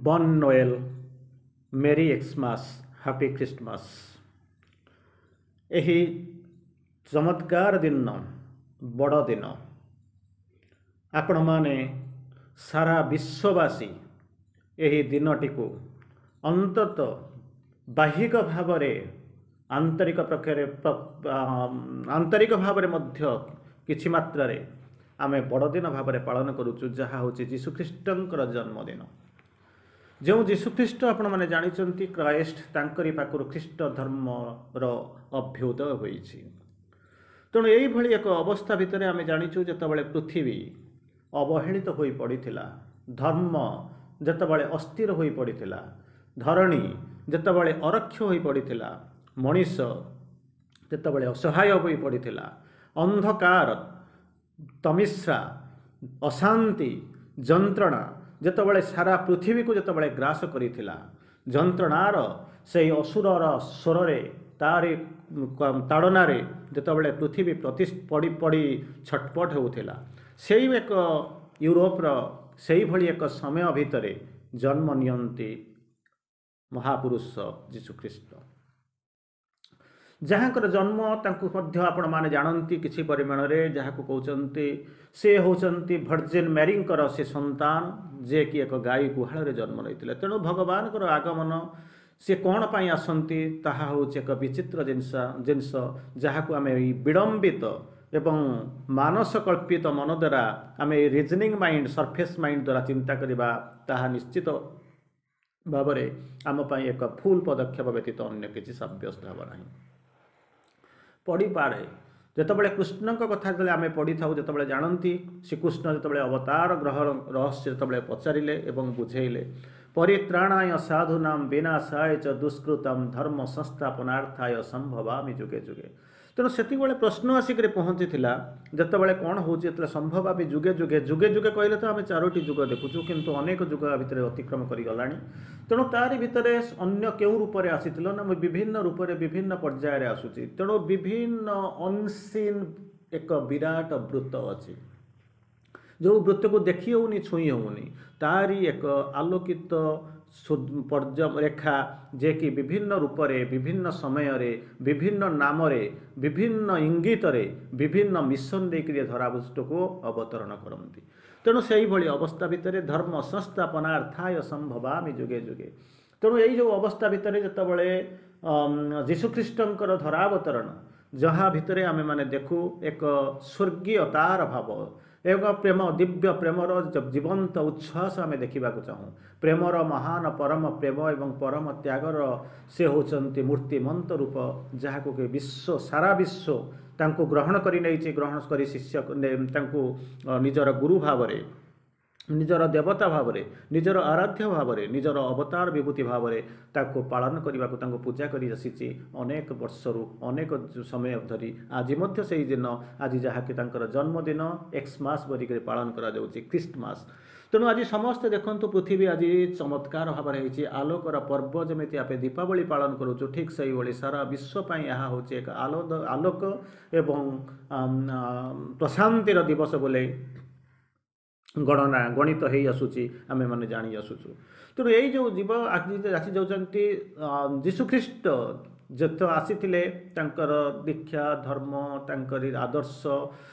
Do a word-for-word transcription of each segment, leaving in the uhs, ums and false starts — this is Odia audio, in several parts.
Bon Noel, Merry Xmas, Happy Christmas. ଏହି ଚମତ୍କାର ଦିନ, ବଡ଼ ଦିନ, ଆପଣମାନେ ସାରା ବିଶ୍ୱବାସୀ ଏହି ଦିନଟିକୁ ଅନ୍ତତଃ ବାହ୍ୟିକ ଭାବରେ, ଆନ୍ତରିକ ପ୍ରକ୍ରିୟାରେ, ଆନ୍ତରିକ ଭାବରେ ମଧ୍ୟ କିଛି ମାତ୍ରାରେ ଆମେ ବଡ଼ଦିନ ଭାବରେ ପାଳନ କରୁଛୁ, ଯାହା ହେଉଛି ଯୀଶୁଖ୍ରୀଷ୍ଟଙ୍କର ଜନ୍ମଦିନ। ଯେଉଁ ଯୀଶୁଖ୍ରୀଷ୍ଟ ଆପଣମାନେ ଜାଣିଛନ୍ତି କ୍ରାଇଷ୍ଟ, ତାଙ୍କରି ପାଖରୁ ଖ୍ରୀଷ୍ଟ ଧର୍ମର ଅଭ୍ୟୁଦୟ ହୋଇଛି। ତେଣୁ ଏଇଭଳି ଏକ ଅବସ୍ଥା ଭିତରେ ଆମେ ଜାଣିଛୁ, ଯେତେବେଳେ ପୃଥିବୀ ଅବହେଳିତ ହୋଇ ପଡ଼ିଥିଲା, ଧର୍ମ ଯେତେବେଳେ ଅସ୍ଥିର ହୋଇ ପଡ଼ିଥିଲା, ଧରଣୀ ଯେତେବେଳେ ଅରକ୍ଷ ହୋଇ ପଡ଼ିଥିଲା, ମଣିଷ ଯେତେବେଳେ ଅସହାୟ ହୋଇ ପଡ଼ିଥିଲା, ଅନ୍ଧକାର, ତମିସ୍ରା, ଅଶାନ୍ତି, ଯନ୍ତ୍ରଣା ଯେତେବେଳେ ସାରା ପୃଥିବୀକୁ ଯେତେବେଳେ ଗ୍ରାସ କରିଥିଲା, ଯନ୍ତ୍ରଣାର ସେଇ ଅସୁରର ସ୍ୱରରେ, ତାରି ତାଡ଼ନାରେ ଯେତେବେଳେ ପୃଥିବୀ ପ୍ରତି ପଡ଼ି ପଡ଼ି ଛଟପଟ ହେଉଥିଲା, ସେଇ ଏକ ୟୁରୋପର ସେଇଭଳି ଏକ ସମୟ ଭିତରେ ଜନ୍ମ ନିଅନ୍ତି ମହାପୁରୁଷ ଯୀଶୁଖ୍ରୀଷ୍ଟ, ଯାହାଙ୍କର ଜନ୍ମ ତାଙ୍କୁ ମଧ୍ୟ ଆପଣମାନେ ଜାଣନ୍ତି କିଛି ପରିମାଣରେ, ଯାହାକୁ କହୁଛନ୍ତି ସେ ହେଉଛନ୍ତି ଭର୍ଜିନ୍ ମ୍ୟାରିଙ୍କର ସେ ସନ୍ତାନ, ଯିଏକି ଏକ ଗାଈ ଗୁହାଳରେ ଜନ୍ମ ନେଇଥିଲେ। ତେଣୁ ଭଗବାନଙ୍କର ଆଗମନ, ସେ କ'ଣ ପାଇଁ ଆସନ୍ତି, ତାହା ହେଉଛି ଏକ ବିଚିତ୍ର ଜିନିଷ ଜିନିଷ ଯାହାକୁ ଆମେ ଏଇ ବିଳମ୍ବିତ ଏବଂ ମାନସ କଳ୍ପିତ ମନ ଦ୍ୱାରା, ଆମେ ଏଇ ରିଜନିଂ ମାଇଣ୍ଡ, ସର୍ଫେସ୍ ମାଇଣ୍ଡ ଦ୍ୱାରା ଚିନ୍ତା କରିବା, ତାହା ନିଶ୍ଚିତ ଭାବରେ ଆମ ପାଇଁ ଏକ ଭୁଲ ପଦକ୍ଷେପ ବ୍ୟତୀତ ଅନ୍ୟ କିଛି ସାବ୍ୟସ୍ତ ହେବ ନାହିଁ। ପଡ଼ିପାରେ ଯେତେବେଳେ କୃଷ୍ଣଙ୍କ କଥା ଯେତେବେଳେ ଆମେ ପଢ଼ିଥାଉ, ଯେତେବେଳେ ଜାଣନ୍ତି ଶ୍ରୀକୃଷ୍ଣ ଯେତେବେଳେ ଅବତାର ଗ୍ରହ ରହସ୍ୟ ଯେତେବେଳେ ପଚାରିଲେ ଏବଂ ବୁଝେଇଲେ, ପରିତ୍ରାଣାୟ ସାଧୁନାମ ବିନାଶାୟ ଚ ଦୁଷ୍କୃତମ ଧର୍ମ ସଂସ୍ଥାପନାର୍ଥାୟ ସମ୍ଭବାମି ଯୁଗେ ଯୁଗେ। ତେଣୁ ସେତିକିବେଳେ ପ୍ରଶ୍ନ ଆସିକରି ପହଞ୍ଚିଥିଲା, ଯେତେବେଳେ କ'ଣ ହେଉଛି, ଯେତେବେଳେ ସମ୍ଭବାମି ଯୁଗେ ଯୁଗେ, ଯୁଗେ ଯୁଗେ କହିଲେ ତ ଆମେ ଚାରୋଟି ଯୁଗ ଦେଖୁଛୁ, କିନ୍ତୁ ଅନେକ ଯୁଗ ଭିତରେ ଅତିକ୍ରମ କରିଗଲାଣି। ତେଣୁ ତାରି ଭିତରେ ଅନ୍ୟ କେଉଁ ରୂପରେ ଆସିଥିଲ ନା ମୁଁ ବିଭିନ୍ନ ରୂପରେ ବିଭିନ୍ନ ପର୍ଯ୍ୟାୟରେ ଆସୁଛି। ତେଣୁ ବିଭିନ୍ନ ଅନସିନ୍ ଏକ ବିରାଟ ବୃତ୍ତ ଅଛି, ଯେଉଁ ବୃତ୍ତକୁ ଦେଖି ହେଉନି, ଛୁଇଁ ହେଉନି, ତାରି ଏକ ଆଲୋକିତ ରେଖା, ଯିଏକି ବିଭିନ୍ନ ରୂପରେ, ବିଭିନ୍ନ ସମୟରେ, ବିଭିନ୍ନ ନାମରେ, ବିଭିନ୍ନ ଇଙ୍ଗିତରେ, ବିଭିନ୍ନ ମିଶନ ଦେଇକରି ଧରାପୃଷ୍ଠକୁ ଅବତରଣ କରନ୍ତି। ତେଣୁ ସେଇଭଳି ଅବସ୍ଥା ଭିତରେ ଧର୍ମ ସଂସ୍ଥାପନାର୍ଥାୟ ସମ୍ଭବାମି ଯୁଗେ ଯୁଗେ। ତେଣୁ ଏଇ ଯେଉଁ ଅବସ୍ଥା ଭିତରେ ଯେତେବେଳେ ଯୀଶୁଖ୍ରୀଷ୍ଟଙ୍କର ଧରାବତରଣ, ଯାହା ଭିତରେ ଆମେମାନେ ଦେଖୁ ଏକ ସ୍ୱର୍ଗୀୟତାର ଭାବ, ଏକ ପ୍ରେମ, ଦିବ୍ୟ ପ୍ରେମର ଜୀବନ୍ତ ଉଚ୍ଛ୍ୱାସ ଆମେ ଦେଖିବାକୁ ଚାହୁଁ। ପ୍ରେମର ମହାନ ପରମ ପ୍ରେମ ଏବଂ ପରମ ତ୍ୟାଗର ସେ ହେଉଛନ୍ତି ମୂର୍ତ୍ତିମନ୍ତ ରୂପ, ଯାହାକୁ କି ବିଶ୍ୱ, ସାରା ବିଶ୍ୱ ତାଙ୍କୁ ଗ୍ରହଣ କରି ନେଇଛି, ଗ୍ରହଣ କରି ଶିଷ୍ୟ ତାଙ୍କୁ ନିଜର ଗୁରୁ ଭାବରେ, ନିଜର ଦେବତା ଭାବରେ, ନିଜର ଆରାଧ୍ୟ ଭାବରେ, ନିଜର ଅବତାର ବିଭୂତି ଭାବରେ ତାକୁ ପାଳନ କରିବାକୁ, ତାଙ୍କୁ ପୂଜା କରି ଆସିଛି ଅନେକ ବର୍ଷରୁ, ଅନେକ ସମୟ ଧରି। ଆଜି ମଧ୍ୟ ସେଇ ଦିନ, ଆଜି ଯାହାକି ତାଙ୍କର ଜନ୍ମଦିନ ଏକ୍ସମାସ୍ ବୋଲିକରି ପାଳନ କରାଯାଉଛି, ଖ୍ରୀଷ୍ଟମାସ। ତେଣୁ ଆଜି ସମସ୍ତେ ଦେଖନ୍ତୁ, ପୃଥିବୀ ଆଜି ଚମତ୍କାର ଭାବରେ ହେଇଛି ଆଲୋକର ପର୍ବ। ଯେମିତି ଆମେ ଦୀପାବଳି ପାଳନ କରୁଛୁ, ଠିକ୍ ସେଇଭଳି ସାରା ବିଶ୍ୱ ପାଇଁ ଏହା ହେଉଛି ଏକ ଆଲୋକ ଏବଂ ପ୍ରଶାନ୍ତିର ଦିବସ ବୋଲି ଗଣନା ଗଣିତ ହେଇ ଆସୁଛି, ଆମେମାନେ ଜାଣି ଆସୁଛୁ। ତେଣୁ ଏଇ ଯେଉଁ ଜୀବ ଆସି ଯାଉଛନ୍ତି ଯୀଶୁଖ୍ରୀଷ୍ଟ, ଯେତେ ଆସିଥିଲେ, ତାଙ୍କର ଦୀକ୍ଷା, ଧର୍ମ, ତାଙ୍କରି ଆଦର୍ଶ,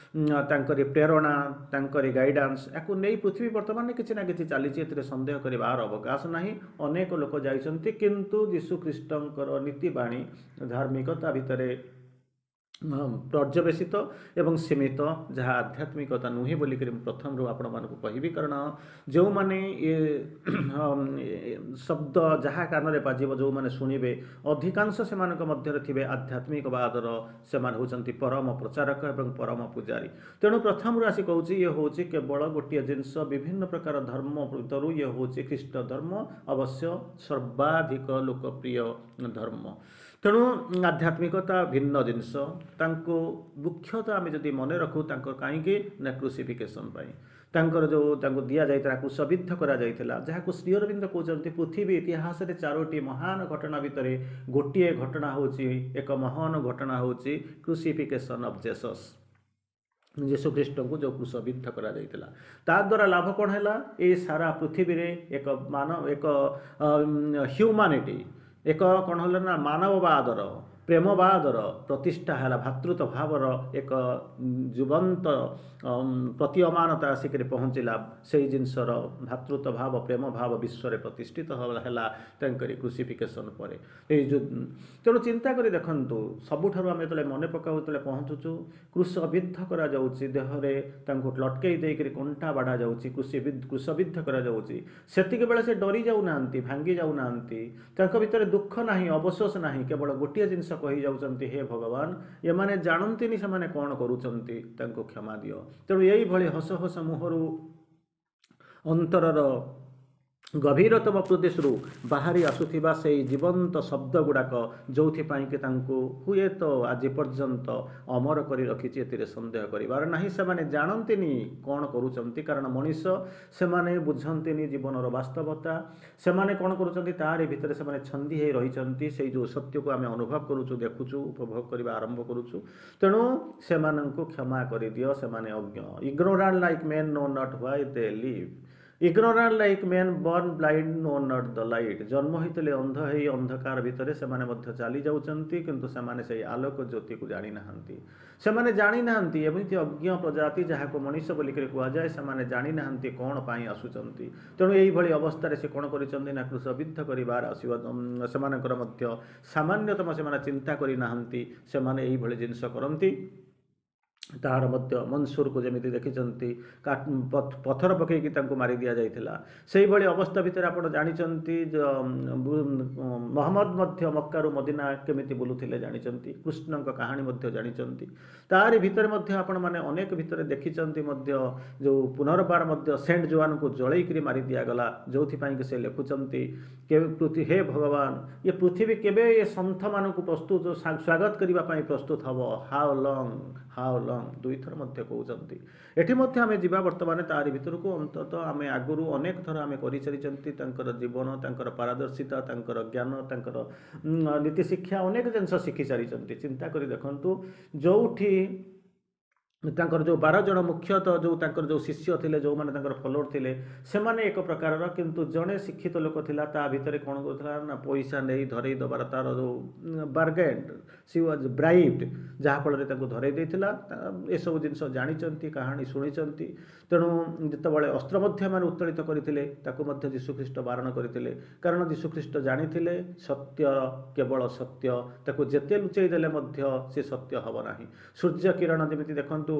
ତାଙ୍କରି ପ୍ରେରଣା, ତାଙ୍କରି ଗାଇଡ଼ାନ୍ସ, ୟାକୁ ନେଇ ପୃଥିବୀ ବର୍ତ୍ତମାନ କିଛି ନା କିଛି ଚାଲିଛି, ଏଥିରେ ସନ୍ଦେହ କରିବାର ଅବକାଶ ନାହିଁ। ଅନେକ ଲୋକ ଯାଇଛନ୍ତି, କିନ୍ତୁ ଯୀଶୁଖ୍ରୀଷ୍ଟଙ୍କର ନୀତିବାଣୀ ଧାର୍ମିକତା ଭିତରେ ପର୍ଯ୍ୟବେସିତ ଏବଂ ସୀମିତ, ଯାହା ଆଧ୍ୟାତ୍ମିକତା ନୁହେଁ ବୋଲିକରି ମୁଁ ପ୍ରଥମରୁ ଆପଣମାନଙ୍କୁ କହିବି। କାରଣ ଯେଉଁମାନେ ଏ ଶବ୍ଦ ଯାହା କାନରେ ବାଜିବ, ଯେଉଁମାନେ ଶୁଣିବେ, ଅଧିକାଂଶ ସେମାନଙ୍କ ମଧ୍ୟରେ ଥିବେ ଆଧ୍ୟାତ୍ମିକବାଦର, ସେମାନେ ହେଉଛନ୍ତି ପରମ ପ୍ରଚାରକ ଏବଂ ପରମ ପୂଜାରୀ। ତେଣୁ ପ୍ରଥମରୁ ଆସି କହୁଛି, ଇଏ ହେଉଛି କେବଳ ଗୋଟିଏ ଜିନିଷ, ବିଭିନ୍ନ ପ୍ରକାର ଧର୍ମ ଭିତରୁ ଇଏ ହେଉଛି ଖ୍ରୀଷ୍ଟ ଧର୍ମ, ଅବଶ୍ୟ ସର୍ବାଧିକ ଲୋକପ୍ରିୟ ଧର୍ମ। ତେଣୁ ଆଧ୍ୟାତ୍ମିକତା ଭିନ୍ନ ଜିନିଷ। ତାଙ୍କୁ ମୁଖ୍ୟତଃ ଆମେ ଯଦି ମନେ ରଖୁ ତାଙ୍କ କାହିଁକି ନା କ୍ରୁସିଫିକେସନ୍ ପାଇଁ, ତାଙ୍କର ଯେଉଁ ତାଙ୍କୁ ଦିଆଯାଇଥିଲା, କ୍ରୁଶବିଦ୍ଧ କରାଯାଇଥିଲା, ଯାହାକୁ ଶ୍ରୀ ଅରବିନ୍ଦ କହୁଛନ୍ତି ପୃଥିବୀ ଇତିହାସରେ ଚାରୋଟି ମହାନ ଘଟଣା ଭିତରେ ଗୋଟିଏ ଘଟଣା ହେଉଛି, ଏକ ମହାନ ଘଟଣା ହେଉଛି କ୍ରୁସିଫିକେସନ୍ ଅଫ୍ ଜେସସ୍। ଯୀଶୁଖ୍ରୀଷ୍ଟଙ୍କୁ ଯେଉଁ କ୍ରୁଶବିଦ୍ଧ କରାଯାଇଥିଲା ତା ଦ୍ୱାରା ଲାଭ କ'ଣ ହେଲା ଏ ସାରା ପୃଥିବୀରେ ଏକ ମାନ ଏକ ହ୍ୟୁମାନିଟି ଏକ କ'ଣ ହେଲା ନା ମାନବବାଦର ପ୍ରେମବାଦର ପ୍ରତିଷ୍ଠା ହେଲା ଭ୍ରାତୃତ୍ୱ ଭାବର ଏକ ଜୀବନ୍ତ ପ୍ରତୀୟମାନତା ଆସିକରି ପହଞ୍ଚିଲା ସେଇ ଜିନିଷର ଭ୍ରାତୃତ୍ୱ ଭାବ ପ୍ରେମ ଭାବ ବିଶ୍ୱରେ ପ୍ରତିଷ୍ଠିତ ହେଲା ତାଙ୍କରି କ୍ରୁସିଫିକେସନ୍ ପରେ ଏଇ ଯେଉଁ ତେଣୁ ଚିନ୍ତା କରି ଦେଖନ୍ତୁ ସବୁଠାରୁ ଆମେ ଯେତେବେଳେ ମନେ ପକାଉ ଯେତେବେଳେ ପହଞ୍ଚୁଛୁ କ୍ରୁଶବିଦ୍ଧ କରାଯାଉଛି ଦେହରେ ତାଙ୍କୁ ଲଟକେଇ ଦେଇକରି କଣ୍ଟା ବାଡ଼ା ଯାଉଛି କୃଷି କ୍ରୁଶବିଦ୍ଧ କରାଯାଉଛି ସେତିକି ବେଳେ ସେ ଡରି ଯାଉନାହାନ୍ତି ଭାଙ୍ଗି ଯାଉନାହାନ୍ତି ତାଙ୍କ ଭିତରେ ଦୁଃଖ ନାହିଁ ଅବଶୋଷ ନାହିଁ କେବଳ ଗୋଟିଏ ଜିନିଷ କହି ଯାଉଛନ୍ତି ହେ ଭଗବାନ ଏମାନେ ଜାଣନ୍ତିନି ସେମାନେ କ'ଣ କରୁଛନ୍ତି ତାଙ୍କୁ କ୍ଷମା ଦିଅ ତେଣୁ ଏଇଭଳି ହସ ହସ ମୁହଁରୁ ଅନ୍ତରର ଗଭୀରତମ ପ୍ରଦେଶରୁ ବାହାରି ଆସୁଥିବା ସେଇ ଜୀବନ୍ତ ଶବ୍ଦ ଗୁଡ଼ାକ ଯେଉଁଥିପାଇଁ କି ତାଙ୍କୁ ହୁଏତ ଆଜି ପର୍ଯ୍ୟନ୍ତ ଅମର କରି ରଖିଛି ଏଥିରେ ସନ୍ଦେହ କରିବାର ନାହିଁ ସେମାନେ ଜାଣନ୍ତିନି କ'ଣ କରୁଛନ୍ତି କାରଣ ମଣିଷ ସେମାନେ ବୁଝନ୍ତିନି ଜୀବନର ବାସ୍ତବତା ସେମାନେ କ'ଣ କରୁଛନ୍ତି ତାରି ଭିତରେ ସେମାନେ ଛନ୍ଦି ହେଇ ରହିଛନ୍ତି ସେଇ ଯେଉଁ ସତ୍ୟକୁ ଆମେ ଅନୁଭବ କରୁଛୁ ଦେଖୁଛୁ ଉପଭୋଗ କରିବା ଆରମ୍ଭ କରୁଛୁ ତେଣୁ ସେମାନଙ୍କୁ କ୍ଷମା କରିଦିଅ ସେମାନେ ଅଜ୍ଞ Ignorant like men know not why they live ignorant like men born blind know not the light ଜନ୍ମ ହୋଇଥିଲେ ଅନ୍ଧ ହେଇ ଅନ୍ଧକାର ଭିତରେ ସେମାନେ ମଧ୍ୟ ଚାଲି ଯାଉଛନ୍ତି କିନ୍ତୁ ସେମାନେ ସେଇ ଆଲୋକ ଜ୍ୟୋତିକୁ ଜାଣିନାହାନ୍ତି ସେମାନେ ଜାଣିନାହାନ୍ତି ଏମିତି ଅଜ୍ଞ ପ୍ରଜାତି ଯାହାକୁ ମଣିଷ ବୋଲିକରି କୁହାଯାଏ ସେମାନେ ଜାଣିନାହାନ୍ତି କ'ଣ ପାଇଁ ଆସୁଛନ୍ତି ତେଣୁ ଏଇଭଳି ଅବସ୍ଥାରେ ସେ କ'ଣ କରିଛନ୍ତି ନା କ୍ରୁଶବିଦ୍ଧ କରିବାର ଆସିବା ସେମାନଙ୍କର ମଧ୍ୟ ସାମାନ୍ୟତମ ସେମାନେ ଚିନ୍ତା କରିନାହାନ୍ତି ସେମାନେ ଏଇଭଳି ଜିନିଷ କରନ୍ତି ତାହାର ମଧ୍ୟ ମନସୁରକୁ ଯେମିତି ଦେଖିଛନ୍ତି ପଥର ପକାଇକି ତାଙ୍କୁ ମାରି ଦିଆଯାଇଥିଲା ସେଇଭଳି ଅବସ୍ଥା ଭିତରେ ଆପଣ ଜାଣିଛନ୍ତି ମହମ୍ମଦ ମଧ୍ୟ ମକ୍କାରୁ ମଦିନା କେମିତି ବୁଲୁଥିଲେ ଜାଣିଛନ୍ତି କୃଷ୍ଣଙ୍କ କାହାଣୀ ମଧ୍ୟ ଜାଣିଛନ୍ତି ତାରି ଭିତରେ ମଧ୍ୟ ଆପଣମାନେ ଅନେକ ଭିତରେ ଦେଖିଛନ୍ତି ମଧ୍ୟ ଯେଉଁ ପୁନର୍ବାର ମଧ୍ୟ ସେଣ୍ଟ ଜୋଆନକୁ ଜଳେଇକିରି ମାରି ଦିଆଗଲା ଯେଉଁଥିପାଇଁ କି ସେ ଲେଖୁଛନ୍ତି କେବେ ହେ ଭଗବାନ ଏ ପୃଥିବୀ କେବେ ଏ ସନ୍ଥମାନଙ୍କୁ ପ୍ରସ୍ତୁତ ସ୍ୱାଗତ କରିବା ପାଇଁ ପ୍ରସ୍ତୁତ ହେବ ହାଉ ଲଙ୍ଗ ହାଉ ଲଙ୍ଗ ଦୁଇଥର ମଧ୍ୟ କହୁଛନ୍ତି ଏଠି ମଧ୍ୟ ଆମେ ଯିବା ବର୍ତ୍ତମାନ ତାରି ଭିତରକୁ ଅନ୍ତତଃ ଆମେ ଆଗରୁ ଅନେକ ଥର ଆମେ କରିସାରିଛନ୍ତି ତାଙ୍କର ଜୀବନ ତାଙ୍କର ପାରଦର୍ଶିତା ତାଙ୍କର ଜ୍ଞାନ ତାଙ୍କର ନୀତି ଶିକ୍ଷା ଅନେକ ଜିନିଷ ଶିଖି ସାରିଛନ୍ତି ଚିନ୍ତା କରି ଦେଖନ୍ତୁ ଯେଉଁଠି ତାଙ୍କର ଯେଉଁ ବାର ଜଣ ମୁଖ୍ୟତଃ ଯେଉଁ ତାଙ୍କର ଯେଉଁ ଶିଷ୍ୟ ଥିଲେ ଯେଉଁମାନେ ତାଙ୍କର ଫଲୋଅର ଥିଲେ ସେମାନେ ଏକ ପ୍ରକାରର କିନ୍ତୁ ଜଣେ ଶିକ୍ଷିତ ଲୋକ ଥିଲା ତା ଭିତରେ କ'ଣ କରୁଥିଲା ନା ପଇସା ନେଇ ଧରେଇ ଦେବାର ତାର ଯେଉଁ ବାର୍ଗେନ୍ ସି ୱାଜ୍ ବ୍ରାଇବ୍ଡ ଯାହାଫଳରେ ତାଙ୍କୁ ଧରେଇ ଦେଇଥିଲା ଏସବୁ ଜିନିଷ ଜାଣିଛନ୍ତି କାହାଣୀ ଶୁଣିଛନ୍ତି ତେଣୁ ଯେତେବେଳେ ଅସ୍ତ୍ର ମଧ୍ୟ ଏମାନେ ଉତ୍ତୋଳିତ କରିଥିଲେ ତାକୁ ମଧ୍ୟ ଯୀଶୁଖ୍ରୀଷ୍ଟ ବାରଣ କରିଥିଲେ କାରଣ ଯୀଶୁଖ୍ରୀଷ୍ଟ ଜାଣିଥିଲେ ସତ୍ୟ କେବଳ ସତ୍ୟ ତାକୁ ଯେତେ ଲୁଚେଇ ଦେଲେ ମଧ୍ୟ ସେ ସତ୍ୟ ହେବ ନାହିଁ ସୂର୍ଯ୍ୟ କିରଣ ଯେମିତି ଦେଖନ୍ତୁ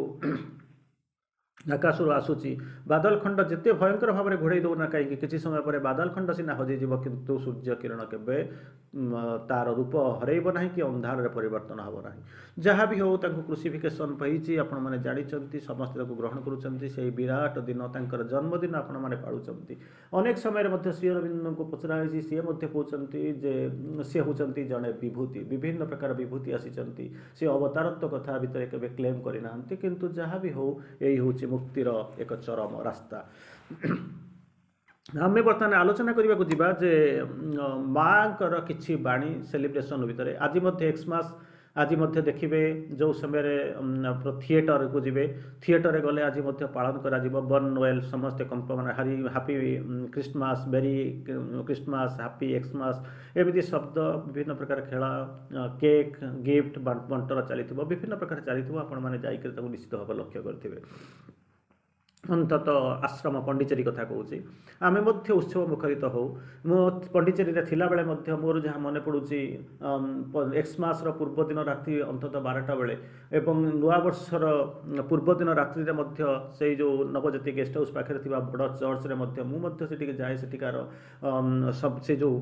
ଆକାଶରୁ ଆସୁଛି ବାଦଲ ଖଣ୍ଡ ଯେତେ ଭୟଙ୍କର ଭାବରେ ଘୋଡ଼େଇ ଦେଉନା କାହିଁକି କିଛି ସମୟ ପରେ ବାଦଲ ଖଣ୍ଡ ସିନା ହଜିଯିବ କିନ୍ତୁ ସୂର୍ଯ୍ୟ କିରଣ କେବେ ତାର ରୂପ ହରେଇବ ନାହିଁ କି ଅନ୍ଧାରରେ ପରିବର୍ତ୍ତନ ହେବ ନାହିଁ ଯାହା ବି ହେଉ ତାଙ୍କୁ କ୍ରୁସିଫିକେସନ୍ ହେଇଛି ଆପଣମାନେ ଜାଣିଛନ୍ତି ସମସ୍ତେ ତାକୁ ଗ୍ରହଣ କରୁଛନ୍ତି ସେଇ ବିରାଟ ଦିନ ତାଙ୍କର ଜନ୍ମଦିନ ଆପଣମାନେ ପାଳୁଛନ୍ତି ଅନେକ ସମୟରେ ମଧ୍ୟ ଶ୍ରୀ ଅରବିନ୍ଦଙ୍କୁ ପଚରା ହେଇଛି ସିଏ ମଧ୍ୟ କହୁଛନ୍ତି ଯେ ସେ ହେଉଛନ୍ତି ଜଣେ ବିଭୂତି ବିଭିନ୍ନ ପ୍ରକାର ବିଭୂତି ଆସିଛନ୍ତି ସେ ଅବତାରତ୍ୱ କଥା ଭିତରେ କେବେ କ୍ଲେମ୍ କରିନାହାନ୍ତି କିନ୍ତୁ ଯାହା ବି ହେଉ ଏଇ ହେଉଛି ମୁକ୍ତିର ଏକ ଚରମ ରାସ୍ତା ଆମେ ବର୍ତ୍ତମାନ ଆଲୋଚନା କରିବାକୁ ଯିବା ଯେ ମାଆଙ୍କର କିଛି ବାଣୀ ସେଲିବ୍ରେସନ୍ ଭିତରେ ଆଜି ମଧ୍ୟ ଏକ୍ସମାସ୍ ଆଜି ମଧ୍ୟ ଦେଖିବେ ଯେଉଁ ସମୟରେ ଥିଏଟରକୁ ଯିବେ ଥିଏଟରରେ ଗଲେ ଆଜି ମଧ୍ୟ ପାଳନ କରାଯିବ ବର୍ନ ନୋଏଲ ସମସ୍ତେ କମ୍ପ ମାନେ ହାରି Happy Christmas Merry Christmas Happy Xmas ଏମିତି ଶବ୍ଦ ବିଭିନ୍ନ ପ୍ରକାର ଖେଳ କେକ୍ ଗିଫ୍ଟ ବଣ୍ଟନ ଚାଲିଥିବ ବିଭିନ୍ନ ପ୍ରକାର ଚାଲିଥିବ ଆପଣମାନେ ଯାଇକରି ତାକୁ ନିଶ୍ଚିତ ଭାବେ ଲକ୍ଷ୍ୟ କରିଥିବେ ଅନ୍ତତଃ ଆଶ୍ରମ ପଣ୍ଡିଚେରୀ କଥା କହୁଛି ଆମେ ମଧ୍ୟ ଉତ୍ସବ ମୁଖରିତ ହେଉ ମୁଁ ପଣ୍ଡିଚେରୀରେ ଥିଲାବେଳେ ମଧ୍ୟ ମୋର ଯାହା ମନେ ପଡ଼ୁଛି ଏକ୍ସମାସର ପୂର୍ବଦିନ ରାତି ଅନ୍ତତଃ ବାରଟା ବେଳେ ଏବଂ ନୂଆବର୍ଷର ପୂର୍ବଦିନ ରାତ୍ରିରେ ମଧ୍ୟ ସେଇ ଯେଉଁ ନବଜ୍ୟୋତି ଗେଷ୍ଟ ହାଉସ୍ ପାଖରେ ଥିବା ବଡ଼ ଚର୍ଚ୍ଚରେ ମଧ୍ୟ ମୁଁ ମଧ୍ୟ ସେଠିକି ଯାଏ ସେଠିକାର ସବୁ ସେ ଯେଉଁ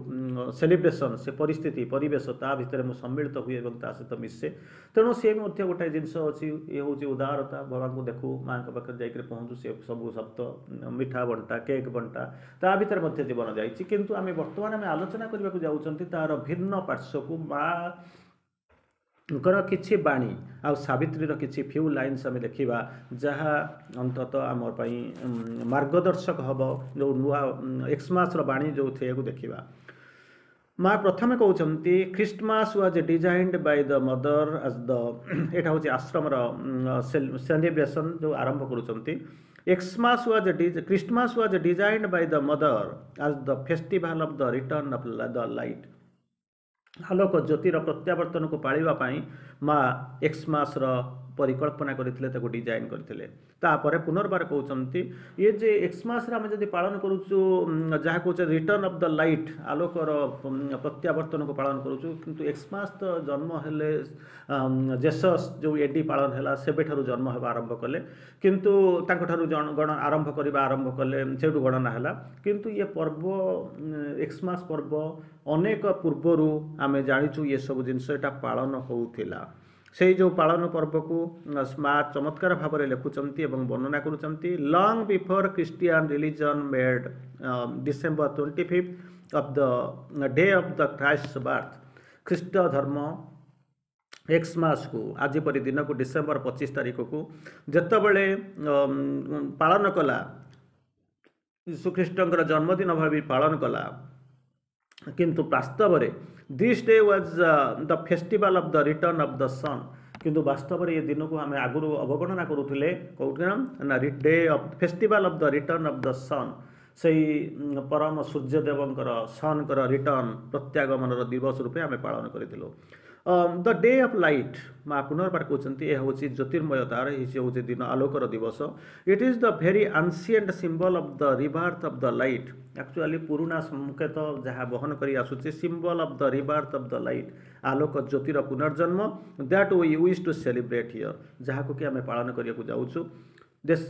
ସେଲିବ୍ରେସନ୍ ସେ ପରିସ୍ଥିତି ପରିବେଶ ତା ଭିତରେ ମୁଁ ସମ୍ମିଳିତ ହୁଏ ଏବଂ ତା ସହିତ ମିଶେ ତେଣୁ ସେ ମଧ୍ୟ ଗୋଟାଏ ଜିନିଷ ଅଛି ଇଏ ହେଉଛି ଉଦାରତା ବାବାଙ୍କୁ ଦେଖୁ ମାଆଙ୍କ ପାଖରେ ଯାଇକରି ପହଞ୍ଚୁ ସେ ସବୁ ଶବ୍ଦ ମିଠା ବଣ୍ଟା କେକ୍ ବଣ୍ଟା ତା ଭିତରେ ମଧ୍ୟ ଜୀବନ ଯାଇଛି କିନ୍ତୁ ଆମେ ବର୍ତ୍ତମାନ ଆମେ ଆଲୋଚନା କରିବାକୁ ଯାଉଛନ୍ତି ତାର ଭିନ୍ନ ପାର୍ଶ୍ୱକୁ ମା ଙ୍କର କିଛି ବାଣୀ ଆଉ ସାବିତ୍ରୀର କିଛି ଫ୍ୟୁ ଲାଇନ୍ସ ଆମେ ଦେଖିବା ଯାହା ଅନ୍ତତଃ ଆମ ପାଇଁ ମାର୍ଗଦର୍ଶକ ହେବ ଯେଉଁ ନୂଆ ଏକ୍ସମାସର ବାଣୀ ଯେଉଁ ସେଇଆକୁ ଦେଖିବା ମା ପ୍ରଥମେ କହୁଛନ୍ତି Christmas was designed by the Mother as the ଏଇଟା ହେଉଛି ଆଶ୍ରମର ସେଲିବ୍ରେସନ୍ ଯେଉଁ ଆରମ୍ଭ କରୁଛନ୍ତି Xmas was Christmas was designed by the Mother as the festival of the return of the light ଆଲୋକ ଜ୍ୟୋତିର ପ୍ରତ୍ୟାବର୍ତ୍ତନକୁ ପାଳିବା ପାଇଁ ମା ଏକ୍ସମାସର ପରିକଳ୍ପନା କରିଥିଲେ ତାକୁ ଡିଜାଇନ୍ କରିଥିଲେ ତାପରେ ପୁନର୍ବାର କହୁଛନ୍ତି ଇଏ ଯେ ଏକ୍ସମାସରେ ଆମେ ଯଦି ପାଳନ କରୁଛୁ ଯାହା କହୁଛେ ରିଟର୍ନ ଅଫ୍ the light ଆଲୋକର ପ୍ରତ୍ୟାବର୍ତ୍ତନକୁ ପାଳନ କରୁଛୁ କିନ୍ତୁ ଏକ୍ସମାସ ତ ଜନ୍ମ ହେଲେ ଜେସସ୍ ଯେଉଁ ଏଡି ପାଳନ ହେଲା ସେବେଠାରୁ ଜନ୍ମ ହେବା ଆରମ୍ଭ କଲେ କିନ୍ତୁ ତାଙ୍କଠାରୁ ଜଣ ଗଣ ଆରମ୍ଭ କରିବା ଆରମ୍ଭ କଲେ ସେଇଠୁ ଗଣନା ହେଲା କିନ୍ତୁ ଇଏ ପର୍ବ ଏକ୍ସମାସ ପର୍ବ ଅନେକ ପୂର୍ବରୁ ଆମେ ଜାଣିଛୁ ଏସବୁ ଜିନିଷ ଏଇଟା ପାଳନ ହେଉଥିଲା ସେଇ ଯେଉଁ ପାଳନ ପର୍ବକୁ ମା ଚମତ୍କାର ଭାବରେ ଲେଖୁଛନ୍ତି ଏବଂ ବର୍ଣ୍ଣନା କରୁଛନ୍ତି Long before Christian religion made December twenty fifth of the day of the Christ birth ଖ୍ରୀଷ୍ଟ ଧର୍ମ ଏକ୍ସମାସକୁ ଆଜି ପରି ଦିନକୁ ଡିସେମ୍ବର ପଚିଶ ତାରିଖକୁ ଯେତେବେଳେ ପାଳନ କଲା ଯୀଶୁଖ୍ରୀଷ୍ଟଙ୍କର ଜନ୍ମଦିନ ଭାବି ପାଳନ କଲା କିନ୍ତୁ ବାସ୍ତବରେ this day was the festival of the return of the sun କିନ୍ତୁ ବାସ୍ତବରେ ଏ ଦିନକୁ ଆମେ ଆଗରୁ ଅବଗଣନା କରୁଥିଲେ କେଉଁଠି ନା day of festival of the return of the sun ସେଇ ପରମ ସୂର୍ଯ୍ୟଦେବଙ୍କର ସନ୍ଙ୍କର ରିଟର୍ନ ପ୍ରତ୍ୟାଗମନର ଦିବସ ରୂପେ ଆମେ ପାଳନ କରିଥିଲୁ ଦ ଡେ ଅଫ୍ ଲାଇଟ୍ ମା ପୁନର୍ବାର କହୁଛନ୍ତି ଏହା ହେଉଛି ଜ୍ୟୋତିର୍ମୟତାର ଏହି ହେଉଛି ଦିନ ଆଲୋକର ଦିବସ It is the very ancient symbol of the rebirth of the light actually ପୁରୁଣା ସଂକେତ ଯାହା ବହନ କରି ଆସୁଛି symbol of the rebirth of the light ଆଲୋକ ଜ୍ୟୋତିର ପୁନର୍ଜନ୍ମ that we wish to celebrate here ଯାହାକୁ କି ଆମେ ପାଳନ କରିବାକୁ ଯାଉଛୁ ଦେଶ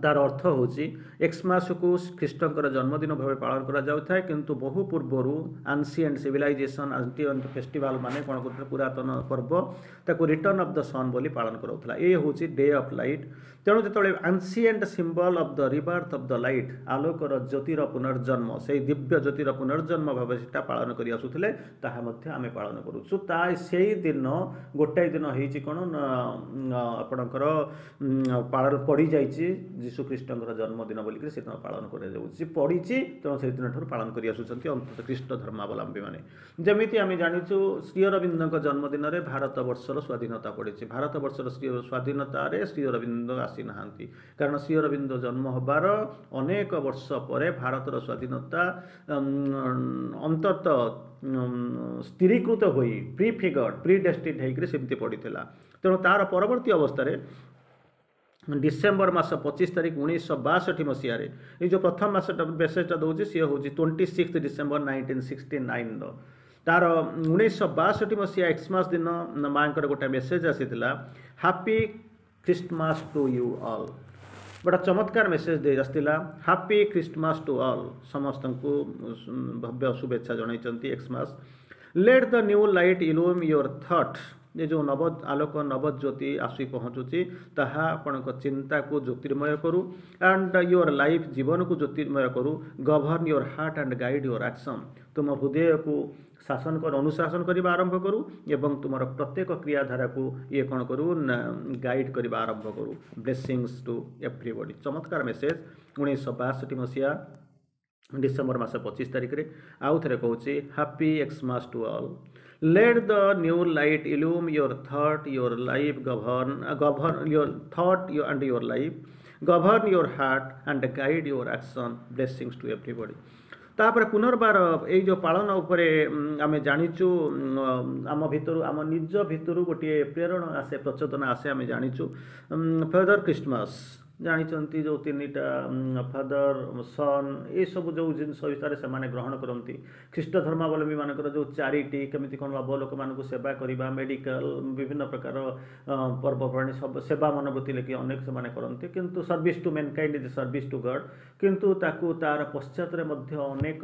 ତାର ଅର୍ଥ ହେଉଛି ଏକ୍ସମାସକୁ ଖ୍ରୀଷ୍ଟଙ୍କର ଜନ୍ମଦିନ ଭାବେ ପାଳନ କରାଯାଉଥାଏ କିନ୍ତୁ ବହୁ ପୂର୍ବରୁ ଆନ୍ସିଏଣ୍ଟ ସିଭିଲାଇଜେସନ୍ ଆନ୍ସିଏଣ୍ଟ ଫେଷ୍ଟିଭାଲ ମାନେ କ'ଣ କରୁଥିଲେ ପୁରାତନ ପର୍ବ ତାକୁ ରିଟର୍ନ ଅଫ୍ the ସନ୍ ବୋଲି ପାଳନ କରାଉଥିଲା ଏ ହେଉଛି ଡେ ଅଫ୍ ଲାଇଟ୍ ତେଣୁ ଯେତେବେଳେ ancient symbol of the rebirth of the light ଆଲୋକର ଜ୍ୟୋତିର ପୁନର୍ଜନ୍ମ ସେଇ ଦିବ୍ୟ ଜ୍ୟୋତିର ପୁନର୍ଜନ୍ମ ଭାବେ ସେଟା ପାଳନ କରି ଆସୁଥିଲେ ତାହା ମଧ୍ୟ ଆମେ ପାଳନ କରୁଛୁ ତା ସେଇ ଦିନ ଗୋଟାଏ ଦିନ ହେଇଛି କ'ଣ ନା ଆପଣଙ୍କର ପାଳନ ପଡ଼ିଯାଇଛି ଯୀଶୁଖ୍ରୀଷ୍ଟଙ୍କର ଜନ୍ମଦିନ ବୋଲିକରି ସେଦିନ ପାଳନ କରାଯାଉଛି ପଡ଼ିଛି ତେଣୁ ସେଦିନ ଠାରୁ ପାଳନ କରି ଆସୁଛନ୍ତି ଅନ୍ତତଃ ଖ୍ରୀଷ୍ଟ ଧର୍ମାବଲମ୍ବୀମାନେ ଯେମିତି ଆମେ ଜାଣିଛୁ ଶ୍ରୀ ଅରବିନ୍ଦଙ୍କ ଜନ୍ମଦିନରେ ଭାରତବର୍ଷର ସ୍ୱାଧୀନତା ପଡ଼ିଛି ଭାରତବର୍ଷର ଶ୍ରୀ ସ୍ୱାଧୀନତାରେ ଶ୍ରୀ ଅରବିନ୍ଦ ଆସିନାହାନ୍ତି କାରଣ ଶ୍ରୀ ଅରବିନ୍ଦ ଜନ୍ମ ହେବାର ଅନେକ ବର୍ଷ ପରେ ଭାରତର ସ୍ୱାଧୀନତା ଅନ୍ତତଃ ସ୍ଥିରୀକୃତ ହୋଇ ପ୍ରି ଫିଗର୍ଡ ପ୍ରି ଡେଷ୍ଟିନ୍ଡ ହେଇକରି ସେମିତି ପଡ଼ିଥିଲା ତେଣୁ ତାର ପରବର୍ତ୍ତୀ ଅବସ୍ଥାରେ ଡିସେମ୍ବର ମାସ ପଚିଶ ତାରିଖ ଉଣେଇଶହ ବାଷଠି ମସିହାରେ ଏଇ ଯେଉଁ ପ୍ରଥମ ମାସଟା ମେସେଜଟା ଦେଉଛି ସିଏ ହେଉଛି twenty six December nineteen sixty ନାଇନର ତାର ଉଣେଇଶହ ବାଷଠି ମସିହା ଏକ୍ସମାସ ଦିନ ମାଆଙ୍କର ଗୋଟେ ମେସେଜ ଆସିଥିଲା Happy Christmas to you all ବଡ଼ ଚମତ୍କାର ମେସେଜ ଦେଇ ଆସିଥିଲା Happy Christmas to all ସମସ୍ତଙ୍କୁ ଭବ୍ୟ ଶୁଭେଚ୍ଛା ଜଣାଇଛନ୍ତି Xmas let the new light illumine your thought ଏ ଯେଉଁ ନବ ଆଲୋକ ନବଜ୍ୟୋତି ଆସି ପହଞ୍ଚୁଛି ତାହା ଆପଣଙ୍କ ଚିନ୍ତାକୁ ଜ୍ୟୋତିର୍ମୟ କରୁ ଆଣ୍ଡ your life ଜୀବନକୁ ଜ୍ୟୋତିର୍ମୟ କରୁ govern your heart and guide your action ତୁମ ହୃଦୟକୁ ଶାସନ କର ଅନୁଶାସନ କରିବା ଆରମ୍ଭ କରୁ ଏବଂ ତୁମର ପ୍ରତ୍ୟେକ କ୍ରିୟାଧାରାକୁ ଇଏ କ'ଣ କରୁ ନା ଗାଇଡ଼ କରିବା ଆରମ୍ଭ କରୁ Blessings to everybody ଚମତ୍କାର ମେସେଜ ଉଣେଇଶହ ବାଷଠି ମସିହା ଡିସେମ୍ବର ମାସ ପଚିଶ ତାରିଖରେ ଆଉ ଥରେ କହୁଛି Happy Xmas to all let the new light illumine your thought your life govern govern your thought and your life govern your heart and guide your action blessings to everybody ତାପରେ ପୁନର୍ବାର ଏଇ ଯେଉଁ ପାଳନ ଉପରେ ଆମେ ଜାଣିଛୁ ଆମ ଭିତରୁ ଆମ ନିଜ ଭିତରୁ ଗୋଟିଏ ପ୍ରେରଣା ଆସେ ପ୍ରଚୋଦନା ଆସେ ଆମେ ଜାଣିଛୁ ଫାଦର ଖ୍ରୀଷ୍ଟମାସ ଜାଣିଛନ୍ତି ଯେଉଁ ତିନିଟା ଫାଦର ସନ୍ ଏସବୁ ଯେଉଁ ଜିନିଷ ବିଷୟରେ ସେମାନେ ଗ୍ରହଣ କରନ୍ତି ଖ୍ରୀଷ୍ଟ ଧର୍ମାବଲମ୍ବୀମାନଙ୍କର ଯେଉଁ ଚାରିଟି କେମିତି କ'ଣ ହବ ଲୋକମାନଙ୍କୁ ସେବା କରିବା ମେଡ଼ିକାଲ ବିଭିନ୍ନ ପ୍ରକାର ପର୍ବପର୍ବାଣୀ ସବୁ ସେବା ମନୋବୃତ୍ତି ଲେଖି ଅନେକ ସେମାନେ କରନ୍ତି କିନ୍ତୁ service to mankind is service to God କିନ୍ତୁ ତାକୁ ତାର ପଶ୍ଚାତରେ ମଧ୍ୟ ଅନେକ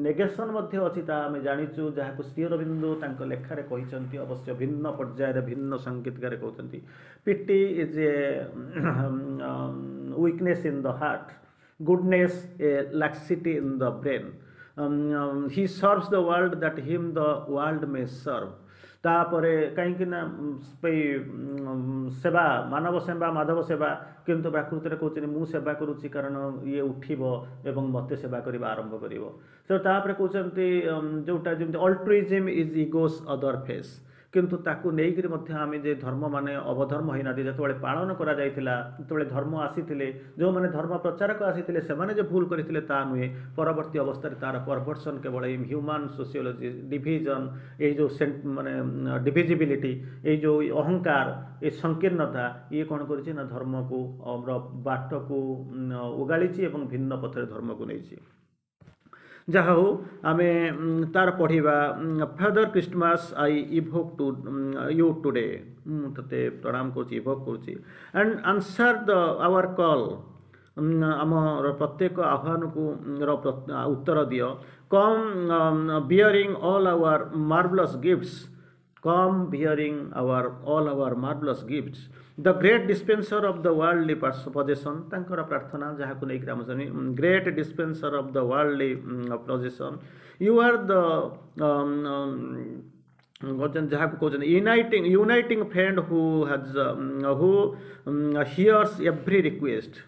ନେଗେସନ୍ ମଧ୍ୟ ଅଛି ତାହା ଆମେ ଜାଣିଛୁ ଯାହାକୁ ଶ୍ରୀ ଅରବିନ୍ଦ ତାଙ୍କ ଲେଖାରେ କହିଛନ୍ତି ଅବଶ୍ୟ ଭିନ୍ନ ପର୍ଯ୍ୟାୟରେ ଭିନ୍ନ ସଙ୍ଗୀତକାରେ କହୁଛନ୍ତି Pity is a weakness in the heart goodness a laxity in the brain um, um, he serves the world that him the world may serve ତାପରେ କାହିଁକି ନା ଏଇ ସେବା ମାନବ ସେବା ମାଧବ ସେବା କିନ୍ତୁ ପ୍ରାକୃତିରେ କହୁଛନ୍ତି ମୁଁ ସେବା କରୁଛି କାରଣ ଇଏ ଉଠିବ ଏବଂ ମୋତେ ସେବା କରିବା ଆରମ୍ଭ କରିବ ତ ତାପରେ କହୁଛନ୍ତି ଯେଉଁଟା ଯେମିତି altruism is ego's other face କିନ୍ତୁ ତାକୁ ନେଇକରି ମଧ୍ୟ ଆମେ ଯେ ଧର୍ମ ମାନେ ଅବଧର୍ମ ହେଇନାହାନ୍ତି ଯେତେବେଳେ ପାଳନ କରାଯାଇଥିଲା ଯେତେବେଳେ ଧର୍ମ ଆସିଥିଲେ ଯେଉଁମାନେ ଧର୍ମ ପ୍ରଚାରକ ଆସିଥିଲେ ସେମାନେ ଯେ ଭୁଲ କରିଥିଲେ ତା ନୁହେଁ ପରବର୍ତ୍ତୀ ଅବସ୍ଥାରେ ତାର ପରଭର୍ସନ୍ କେବଳ ଏଇ ହ୍ୟୁମାନ୍ ସୋସିଓଲୋଜି ଡିଭିଜନ୍ ଏଇ ଯେଉଁ ମାନେ ଡିଭିଜିବିଲିଟି ଏଇ ଯେଉଁ ଅହଙ୍କାର ଏ ସଂକୀର୍ଣ୍ଣତା ଇଏ କ'ଣ କରିଛି ନା ଧର୍ମକୁ ବାଟକୁ ଓଗାଳିଛି ଏବଂ ଭିନ୍ନ ପଥରେ ଧର୍ମକୁ ନେଇଛି ଯାହା ହଉ ଆମେ ତାର ପଢ଼ିବା Father Christmas I invoke to you today ମୁଁ ତୋତେ ପ୍ରଣାମ କରୁଛି ଇଭୋକ୍ କରୁଛି and answer the our call ଆମର ପ୍ରତ୍ୟେକ ଆହ୍ୱାନକୁ ର ଉତ୍ତର ଦିଅ come bearing all our marvellous gifts come bearing our all our marvellous gifts the great dispenser of the worldly possession ତାଙ୍କର ପ୍ରାର୍ଥନା ଯାହାକୁ ନେଇକରି ଆମ great dispenser of the worldly possession you are the ଯାହାକୁ କହୁଛନ୍ତି uniting uniting friend who has who hears every request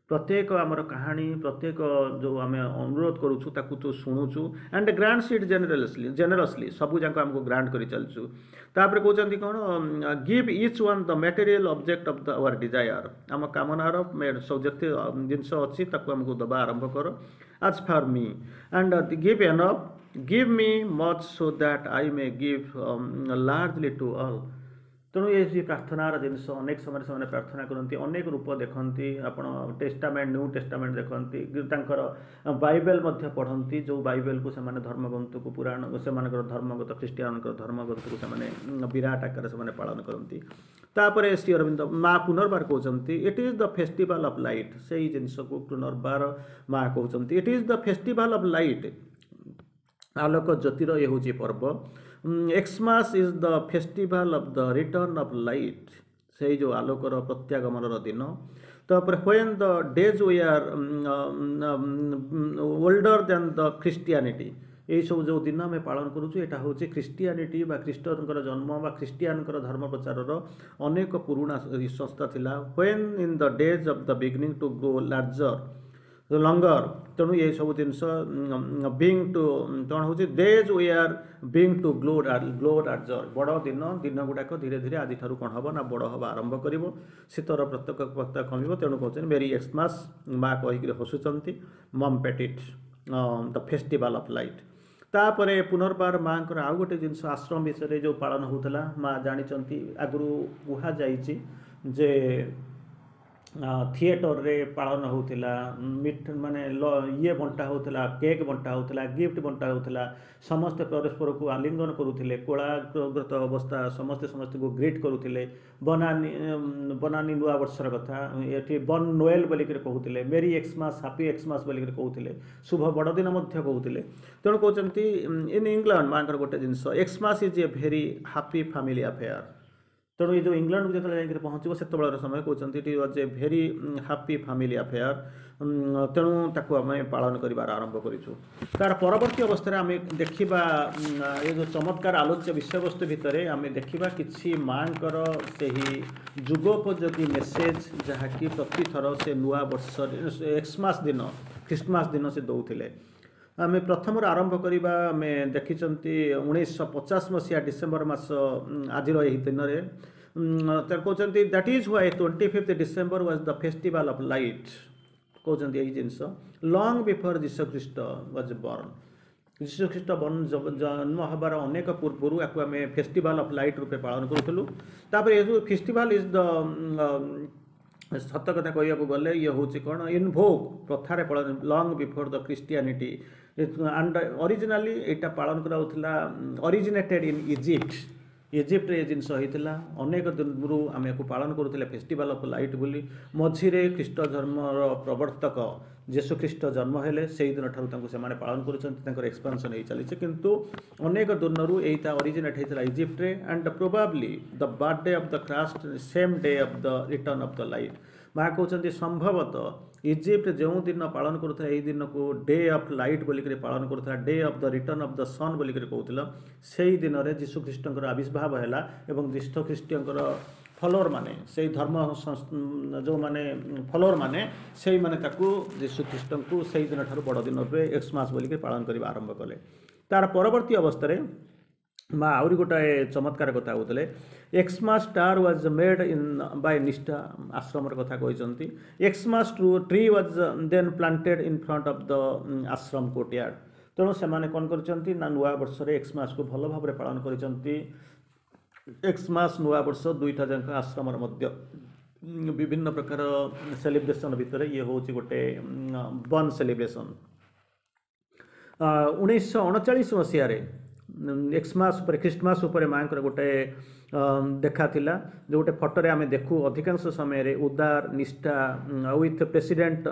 ପ୍ରତ୍ୟେକ ଆମର କାହାଣୀ ପ୍ରତ୍ୟେକ ଯେଉଁ ଆମେ ଅନୁରୋଧ କରୁଛୁ ତାକୁ ତୁ ଶୁଣୁଛୁ and grants it generously generously ସବୁ ଯାକ ଆମକୁ ଗ୍ରାଣ୍ଟ କରି ଚାଲିଛୁ ତାପରେ କହୁଛନ୍ତି କ'ଣ give each one the material object of the our desire ଆମ କାମନାର ସବୁ ଯେତେ ଜିନିଷ ଅଛି ତାକୁ ଆମକୁ ଦେବା ଆରମ୍ଭ କର as for me and give enough give me much so that I may give largely to all ତେଣୁ ଏ ଯେ ପ୍ରାର୍ଥନାର ଜିନିଷ ଅନେକ ସମୟରେ ସେମାନେ ପ୍ରାର୍ଥନା କରନ୍ତି ଅନେକ ରୂପ ଦେଖନ୍ତି ଆପଣ ଟେଷ୍ଟାମେଣ୍ଟ ନ୍ୟୁ ଟେଷ୍ଟାମେଣ୍ଟ ଦେଖନ୍ତି ତାଙ୍କର ବାଇବେଲ ମଧ୍ୟ ପଢ଼ନ୍ତି ଯେଉଁ ବାଇବେଲକୁ ସେମାନେ ଧର୍ମଗ୍ରନ୍ଥକୁ ପୁରାଣ ସେମାନଙ୍କର ଧର୍ମଗତ ଖ୍ରୀଷ୍ଟିଆନଙ୍କର ଧର୍ମଗ୍ରନ୍ଥକୁ ସେମାନେ ବିରାଟ ଆକାରରେ ସେମାନେ ପାଳନ କରନ୍ତି ତାପରେ ଶ୍ରୀ ଅରବିନ୍ଦ ମା ପୁନର୍ବାର କହୁଛନ୍ତି it is the festival of light ସେଇ ଜିନିଷକୁ ପୁନର୍ବାର ମା କହୁଛନ୍ତି it is the festival of light ଆଲୋକ ଜ୍ୟୋତିର ଇଏ ହେଉଛି ପର୍ବ Xmas is the festival of the return of light ସେଇ ଯେଉଁ ଆଲୋକର ପ୍ରତ୍ୟାଗମନର ଦିନ ତାପରେ when the days were older than the Christianity ଏଇସବୁ ଯେଉଁ ଦିନ ଆମେ ପାଳନ କରୁଛୁ ଏଇଟା ହେଉଛି ଖ୍ରୀଷ୍ଟିଆନିଟି ବା ଖ୍ରୀଷ୍ଟଙ୍କର ଜନ୍ମ ବା ଖ୍ରୀଷ୍ଟିଆନଙ୍କର ଧର୍ମ ପ୍ରଚାରର ଅନେକ ପୁରୁଣା ସଂସ୍ଥା ଥିଲା when in the days of the beginning to grow larger longer ତେଣୁ ଏସବୁ ଜିନିଷ ବିଗିନ୍ ଟୁ କ'ଣ ହେଉଛି days were beginning to glow glow larger ବଡ଼ ଦିନ ଦିନ ଗୁଡ଼ାକ ଧୀରେ ଧୀରେ ଆଜିଠାରୁ କ'ଣ ହେବ ନା ବଡ଼ ହେବା ଆରମ୍ଭ କରିବ ଶୀତର ପ୍ରତ୍ୟେକ ପ୍ରତ୍ୟେକ କମିବ ତେଣୁ କହୁଛନ୍ତି ମେରି ଏକ୍ସମାସ୍ ମା କହିକିରି ହସୁଛନ୍ତି Mom Petit the festival of light ତାପରେ ପୁନର୍ବାର ମାଆଙ୍କର ଆଉ ଗୋଟେ ଜିନିଷ ଆଶ୍ରମ ବିଷୟରେ ଯେଉଁ ପାଳନ ହେଉଥିଲା ମା ଜାଣିଛନ୍ତି ଆଗରୁ କୁହାଯାଇଛି ଯେ ଥିଏଟରରେ ପାଳନ ହେଉଥିଲା ମିଠ ମାନେ ଇଏ ବଣ୍ଟା ହେଉଥିଲା କେକ୍ ବଣ୍ଟା ହେଉଥିଲା ଗିଫ୍ଟ ବଣ୍ଟା ହେଉଥିଲା ସମସ୍ତେ ପରସ୍ପରକୁ ଆଲିଙ୍ଗନ କରୁଥିଲେ କୋଳାଗ୍ରତ ଅବସ୍ଥା ସମସ୍ତେ ସମସ୍ତଙ୍କୁ ଗ୍ରିଟ୍ କରୁଥିଲେ ବନାନୀ ବନାନୀ ନୂଆ ବର୍ଷର କଥା ଏଠି ବନ୍ ନୋଏଲ ବୋଲିକିରି କହୁଥିଲେ ମେରି ଏକ୍ସମାସ୍ ହାପି ଏକ୍ସମାସ୍ ବୋଲିକିରି କହୁଥିଲେ ଶୁଭ ବଡ଼ଦିନ ମଧ୍ୟ କହୁଥିଲେ ତେଣୁ କହୁଛନ୍ତି ଇନ୍ ଇଂଲଣ୍ଡ ମାଙ୍କର ଗୋଟେ ଜିନିଷ Xmas is a very happy family affair ତେଣୁ ଏ ଯେଉଁ ଇଂଲଣ୍ଡକୁ ଯେତେବେଳେ ଯାଇକରି ପହଞ୍ଚିବ ସେତେବେଳର ସମୟ କହୁଛନ୍ତି it was a very happy family affair ତେଣୁ ତାକୁ ଆମେ ପାଳନ କରିବାର ଆରମ୍ଭ କରିଛୁ ତାର ପରବର୍ତ୍ତୀ ଅବସ୍ଥାରେ ଆମେ ଦେଖିବା ଏ ଯେଉଁ ଚମତ୍କାର ଆଲୋଚ୍ୟ ବିଷୟବସ୍ତୁ ଭିତରେ ଆମେ ଦେଖିବା କିଛି ମାଙ୍କର ସେହି ଯୁଗୋପଯୋଗୀ ମେସେଜ ଯାହାକି ପ୍ରତିଥର ସେ ନୂଆ ବର୍ଷରେ ଏକ୍ସମାସ୍ ଦିନ ଖ୍ରୀଷ୍ଟମାସ ଦିନ ସେ ଦେଉଥିଲେ ଆମେ ପ୍ରଥମରୁ ଆରମ୍ଭ କରିବା ଆମେ ଦେଖିଛନ୍ତି ଉଣେଇଶହ ପଚାଶ ମସିହା ଡିସେମ୍ବର ମାସ ଆଜିର ଏହି ଦିନରେ କହୁଛନ୍ତି that is why twenty fifth December was the festival of light କହୁଛନ୍ତି ଏଇ ଜିନିଷ long before Jesus Christ was born ଯୀଶୁଖ୍ରୀଷ୍ଟ ଜନ୍ମ ହେବାର ଅନେକ ପୂର୍ବରୁ ୟାକୁ ଆମେ ଫେଷ୍ଟିଭାଲ୍ ଅଫ୍ ଲାଇଟ୍ ରୂପେ ପାଳନ କରୁଥିଲୁ ତାପରେ ଏ ଯେଉଁ ଫେଷ୍ଟିଭାଲ୍ is the ସତ କଥା କହିବାକୁ ଗଲେ ଇଏ ହେଉଛି କ'ଣ ଇନଭୋକ୍ ପ୍ରଥାରେ ପାଳନ long before the Christianity and originally ଏଇଟା ପାଳନ କରାଯାଉଥିଲା ଅରିଜିନେଟେଡ୍ ଇନ୍ ଇଜିପ୍ଟ ଇଜିପ୍ଟରେ ଏ ଜିନିଷ ହେଇଥିଲା ଅନେକ ଦିନରୁ ଆମେ ୟାକୁ ପାଳନ କରୁଥିଲେ ଫେଷ୍ଟିଭାଲ୍ ଅଫ୍ ଲାଇଟ୍ ବୋଲି ମଝିରେ ଖ୍ରୀଷ୍ଟ ଧର୍ମର ପ୍ରବର୍ତ୍ତକ ଯୀଶୁଖ୍ରୀଷ୍ଟ ଜନ୍ମ ହେଲେ ସେଇ ଦିନଠାରୁ ତାଙ୍କୁ ସେମାନେ ପାଳନ କରୁଛନ୍ତି ତାଙ୍କର ଏକ୍ସପାନ୍ସନ୍ ହେଇ ଚାଲିଛି କିନ୍ତୁ ଅନେକ ଦିନରୁ ଏଇଟା ଅରିଜିନେଟ୍ ହେଇଥିଲା ଇଜିପ୍ଟରେ and probably the birthday of the Christ same day of the return of the light ମା କହୁଛନ୍ତି ସମ୍ଭବତଃ ଇଜିପ୍ଟ ଯେଉଁ ଦିନ ପାଳନ କରୁଥିଲା ଏଇ ଦିନକୁ ଡେ ଅଫ୍ ଲାଇଟ୍ ବୋଲିକରି ପାଳନ କରୁଥିଲା day of the return of the sun ବୋଲିକରି କହୁଥିଲା ସେଇ ଦିନରେ ଯୀଶୁ ଖ୍ରୀଷ୍ଟଙ୍କର ଆବିର୍ଭାବ ହେଲା ଏବଂ ଯୀଶୁ ଖ୍ରୀଷ୍ଟଙ୍କର ଫଲୋଅର୍ ମାନେ ସେଇ ଧର୍ମ ଯେଉଁମାନେ ଫଲୋଅର୍ ମାନେ ସେଇମାନେ ତାକୁ ଯୀଶୁ ଖ୍ରୀଷ୍ଟଙ୍କୁ ସେଇ ଦିନଠାରୁ ବଡ଼ ଦିନ ରୂପେ ଏକ୍ସମାସ୍ ବୋଲିକି ପାଳନ କରିବା ଆରମ୍ଭ କଲେ ତାର ପରବର୍ତ୍ତୀ ଅବସ୍ଥାରେ ମା ଆହୁରି ଗୋଟାଏ ଚମତ୍କାର କଥା କହୁଥିଲେ Xmas star was made in by ନିଷ୍ଠା ଆଶ୍ରମର କଥା କହିଛନ୍ତି Xmas tree was then planted in front of the ashram courtyard ତେଣୁ ସେମାନେ କ'ଣ କରିଛନ୍ତି ନା ନୂଆ ବର୍ଷରେ ଏକ୍ସମାସକୁ ଭଲ ଭାବରେ ପାଳନ କରିଛନ୍ତି ଏକ୍ସମାସ ନୂଆ ବର୍ଷ ଦୁଇଟା ଯାକ ଆଶ୍ରମର ମଧ୍ୟ ବିଭିନ୍ନ ପ୍ରକାର ସେଲିବ୍ରେସନ୍ ଭିତରେ ଇଏ ହେଉଛି ଗୋଟେ ବନ୍ ସେଲିବ୍ରେସନ୍ ଉଣେଇଶହ ଅଣଚାଳିଶ ମସିହାରେ ଏକ୍ସମାସ ଉପରେ ଖ୍ରୀଷ୍ଟମାସ ଉପରେ ମାଆଙ୍କର ଗୋଟେ ଦେଖା ଥିଲା ଯେଉଁ ଗୋଟେ ଫଟୋରେ ଆମେ ଦେଖୁ ଅଧିକାଂଶ ସମୟରେ ଉଦାର ନିଷ୍ଠା ୱିଥ୍ ପ୍ରେସିଡେଣ୍ଟ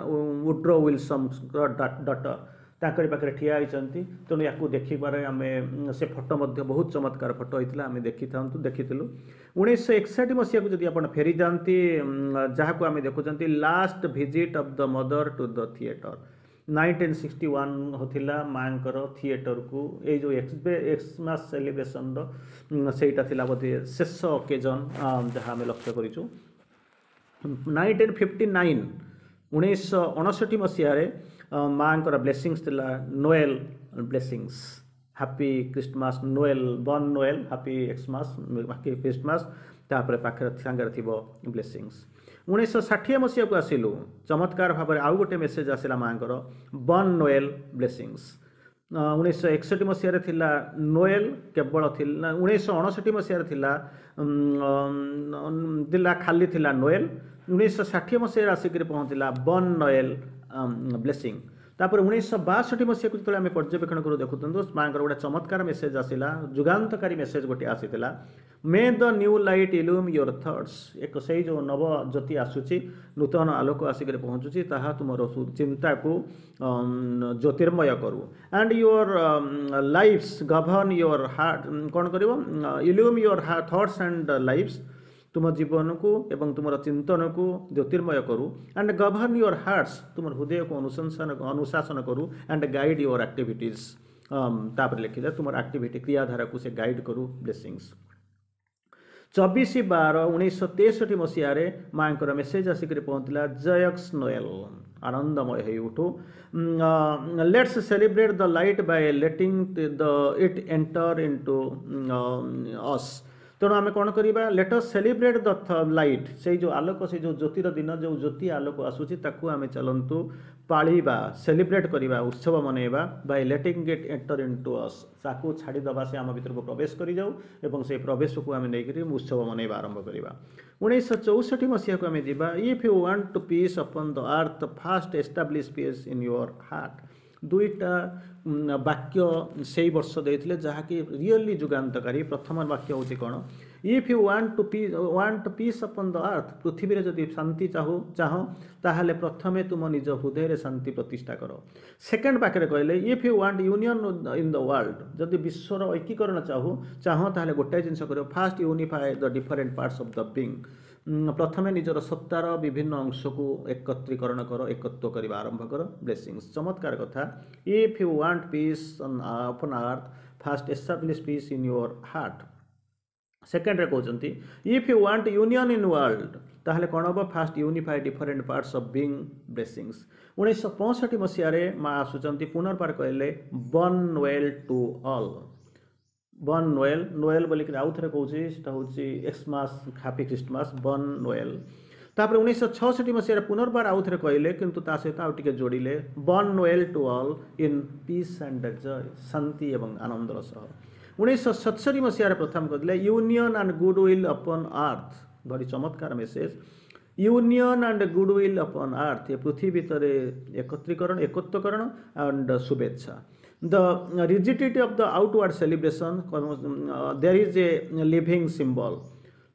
ଉଡ୍ରୋ ୱିଲସନ୍ଙ୍କର ଡଟର ତାଙ୍କରି ପାଖରେ ଠିଆ ହେଇଛନ୍ତି ତେଣୁ ୟାକୁ ଦେଖିବାରେ ଆମେ ସେ ଫଟୋ ମଧ୍ୟ ବହୁତ ଚମତ୍କାର ଫଟୋ ହେଇଥିଲା ଆମେ ଦେଖିଥାନ୍ତୁ ଦେଖିଥିଲୁ ଉଣେଇଶହ ଏକଷଠି ମସିହାକୁ ଯଦି ଆପଣ ଫେରିଯାଆନ୍ତି ଯାହାକୁ ଆମେ ଦେଖୁଛନ୍ତି last visit of the Mother to the theatre nineteen sixty one ଥିଲା ମାଆଙ୍କର ଥିଏଟରକୁ ଏଇ ଯେଉଁ ଏକ୍ସମାସ୍ ସେଲିବ୍ରେସନର ସେଇଟା ଥିଲା ବୋଧେ ଶେଷ ଅକେଜନ୍ ଯାହା ଆମେ ଲକ୍ଷ୍ୟ କରିଛୁ ନାଇନଟିନ୍ ଫିଫ୍ଟି ନାଇନ୍ ଉଣେଇଶହ ଅଣଷଠି ମସିହାରେ ମାଆଙ୍କର ବ୍ଲେସିଂସ୍ ଥିଲା Noel blessings happy Christmas Noel bon Noel happy Xmas happy Christmas ତାପରେ ପାଖରେ ସାଙ୍ଗରେ ଥିବ ବ୍ଲେସିଂସ୍ ଉଣେଇଶହ ଷାଠିଏ ମସିହାକୁ ଆସିଲୁ ଚମତ୍କାର ଭାବରେ ଆଉ ଗୋଟେ ମେସେଜ୍ ଆସିଲା ମାଆଙ୍କର ବନ୍ ନୋଏଲ୍ ବ୍ଲେସିଂସ୍ ଉଣେଇଶହ ଏକଷଠି ମସିହାରେ ଥିଲା ନୋଏଲ୍ କେବଳ ଥିଲା ଉଣେଇଶହ ଅଣଷଠି ମସିହାରେ ଥିଲା ଥିଲା ଖାଲି ଥିଲା ନୋଏଲ୍ ଉଣେଇଶହ ଷାଠିଏ ମସିହାରେ ଆସିକରି ପହଞ୍ଚିଲା ବନ୍ ନୋଏଲ୍ ବ୍ଲେସିଂ ତାପରେ ଉଣେଇଶହ ବାଷଠି ମସିହାକୁ ଯେତେବେଳେ ଆମେ ପର୍ଯ୍ୟବେକ୍ଷଣ କରୁ ଦେଖୁଛନ୍ତି ମାଆଙ୍କର ଗୋଟେ ଚମତ୍କାର ମେସେଜ୍ ଆସିଲା ଯୁଗାନ୍ତକାରୀ ମେସେଜ୍ ଗୋଟିଏ ଆସିଥିଲା may the new light illumine your thoughts ଏକ ସେଇ ଯେଉଁ ନବ ଜ୍ୟୋତି ଆସୁଛି ନୂତନ ଆଲୋକ ଆସିକରି ପହଞ୍ଚୁଛି ତାହା ତୁମର ଚିନ୍ତାକୁ ଜ୍ୟୋତିର୍ମୟ କରୁ and your lives govern your heart କ'ଣ କରିବ illumine your thoughts and lives ତୁମ ଜୀବନକୁ ଏବଂ ତୁମର ଚିନ୍ତନକୁ ଜ୍ୟୋତିର୍ମୟ କରୁ ଆଣ୍ଡ ଗଭର୍ନ your hearts ତୁମର ହୃଦୟକୁ ଅନୁଶଂସନ ଅନୁଶାସନ କରୁ ଆଣ୍ଡ ଗାଇଡ଼ your activities ତାପରେ ଲେଖିଲେ ତୁମର ଆକ୍ଟିଭିଟି କ୍ରିୟାଧାରାକୁ ସେ ଗାଇଡ଼ କରୁ ବ୍ଲେସିଂସ୍ ଚବିଶ ବାର ଉଣେଇଶହ ତେଷଠି ମସିହାରେ ମାଆଙ୍କର ମେସେଜ୍ ଆସିକରି ପହଞ୍ଚିଲା ଜୟକ୍ସ ନୋଏଲ ଆନନ୍ଦମୟ ହେଇ ଉଠୁ let's celebrate the light by letting the it enter into us ତେଣୁ ଆମେ କ'ଣ କରିବା let us celebrate the light ସେଇ ଯେଉଁ ଆଲୋକ ସେଇ ଯେଉଁ ଜ୍ୟୋତିର ଦିନ ଯେଉଁ ଜ୍ୟୋତି ଆଲୋକ ଆସୁଛି ତାକୁ ଆମେ ଚାଲନ୍ତୁ ପାଳିବା ସେଲିବ୍ରେଟ୍ କରିବା ଉତ୍ସବ ମନେଇବା by letting it enter into us ତାକୁ ଛାଡ଼ିଦେବା ସେ ଆମ ଭିତରକୁ ପ୍ରବେଶ କରିଯାଉ ଏବଂ ସେଇ ପ୍ରବେଶକୁ ଆମେ ନେଇକରି ଉତ୍ସବ ମନେଇବା ଆରମ୍ଭ କରିବା ଉଣେଇଶହ ଚଉଷଠି ମସିହାକୁ ଆମେ ଯିବା if you want to peace upon the earth first establish peace in your heart ଦୁଇଟା ବାକ୍ୟ ସେଇ ବର୍ଷ ଦେଇଥିଲେ ଯାହାକି ରିଅଲି ଯୁଗାନ୍ତକାରୀ ପ୍ରଥମ ବାକ୍ୟ ହେଉଛି କ'ଣ if you want to pea want peace upon the earth ପୃଥିବୀରେ ଯଦି ଶାନ୍ତି ଚାହୁ ଚାହଁ ତାହେଲେ ପ୍ରଥମେ ତୁମ ନିଜ ହୃଦୟରେ ଶାନ୍ତି ପ୍ରତିଷ୍ଠା କର ସେକେଣ୍ଡ ପାଖରେ କହିଲେ if you want union in the world ଯଦି ବିଶ୍ୱର ଐକୀକରଣ ଚାହୁ ଚାହଁ ତାହେଲେ ଗୋଟାଏ ଜିନିଷ କରିବ first unify the different parts of the being ପ୍ରଥମେ ନିଜର ସତ୍ତାର ବିଭିନ୍ନ ଅଂଶକୁ ଏକତ୍ରୀକରଣ କର ଏକତ୍ୱ କରିବା ଆରମ୍ଭ କର ବ୍ଲେସିଂସ୍ ଚମତ୍କାର କଥା if you want peace upon earth first establish peace in your heart ସେକେଣ୍ଡରେ କହୁଛନ୍ତି if you want union in world ତାହେଲେ କ'ଣ ହେବ first unify different parts of being blessings ଉଣେଇଶହ ପଞ୍ଚଷଠି ମସିହାରେ ମା ଆସୁଛନ୍ତି ପୁନର୍ବାର କହିଲେ bon Noel to all bon Noel Noel ବୋଲିକିରି ଆଉ ଥରେ କହୁଛି ସେଟା ହେଉଛି Xmas happy Christmas bon Noel ତାପରେ ଉଣେଇଶହ ଛଅଷଠି ମସିହାରେ ପୁନର୍ବାର ଆଉ ଥରେ କହିଲେ କିନ୍ତୁ ତା ସହିତ ଆଉ ଟିକେ ଯୋଡ଼ିଲେ bon Noel to all in peace and joy ଶାନ୍ତି ଏବଂ ଆନନ୍ଦର ସହ ଉଣେଇଶହ ସତଷଠି ମସିହାରେ ପ୍ରଥମ କରିଥିଲେ union and good will upon earth ଭାରି ଚମତ୍କାର message union and good will upon earth ଏ ପୃଥିବୀ ଭିତରେ ଏକତ୍ରୀକରଣ ଏକତ୍ୱକରଣ ଆଣ୍ଡ ଶୁଭେଚ୍ଛା the rigidity of the outward celebration there is a living symbol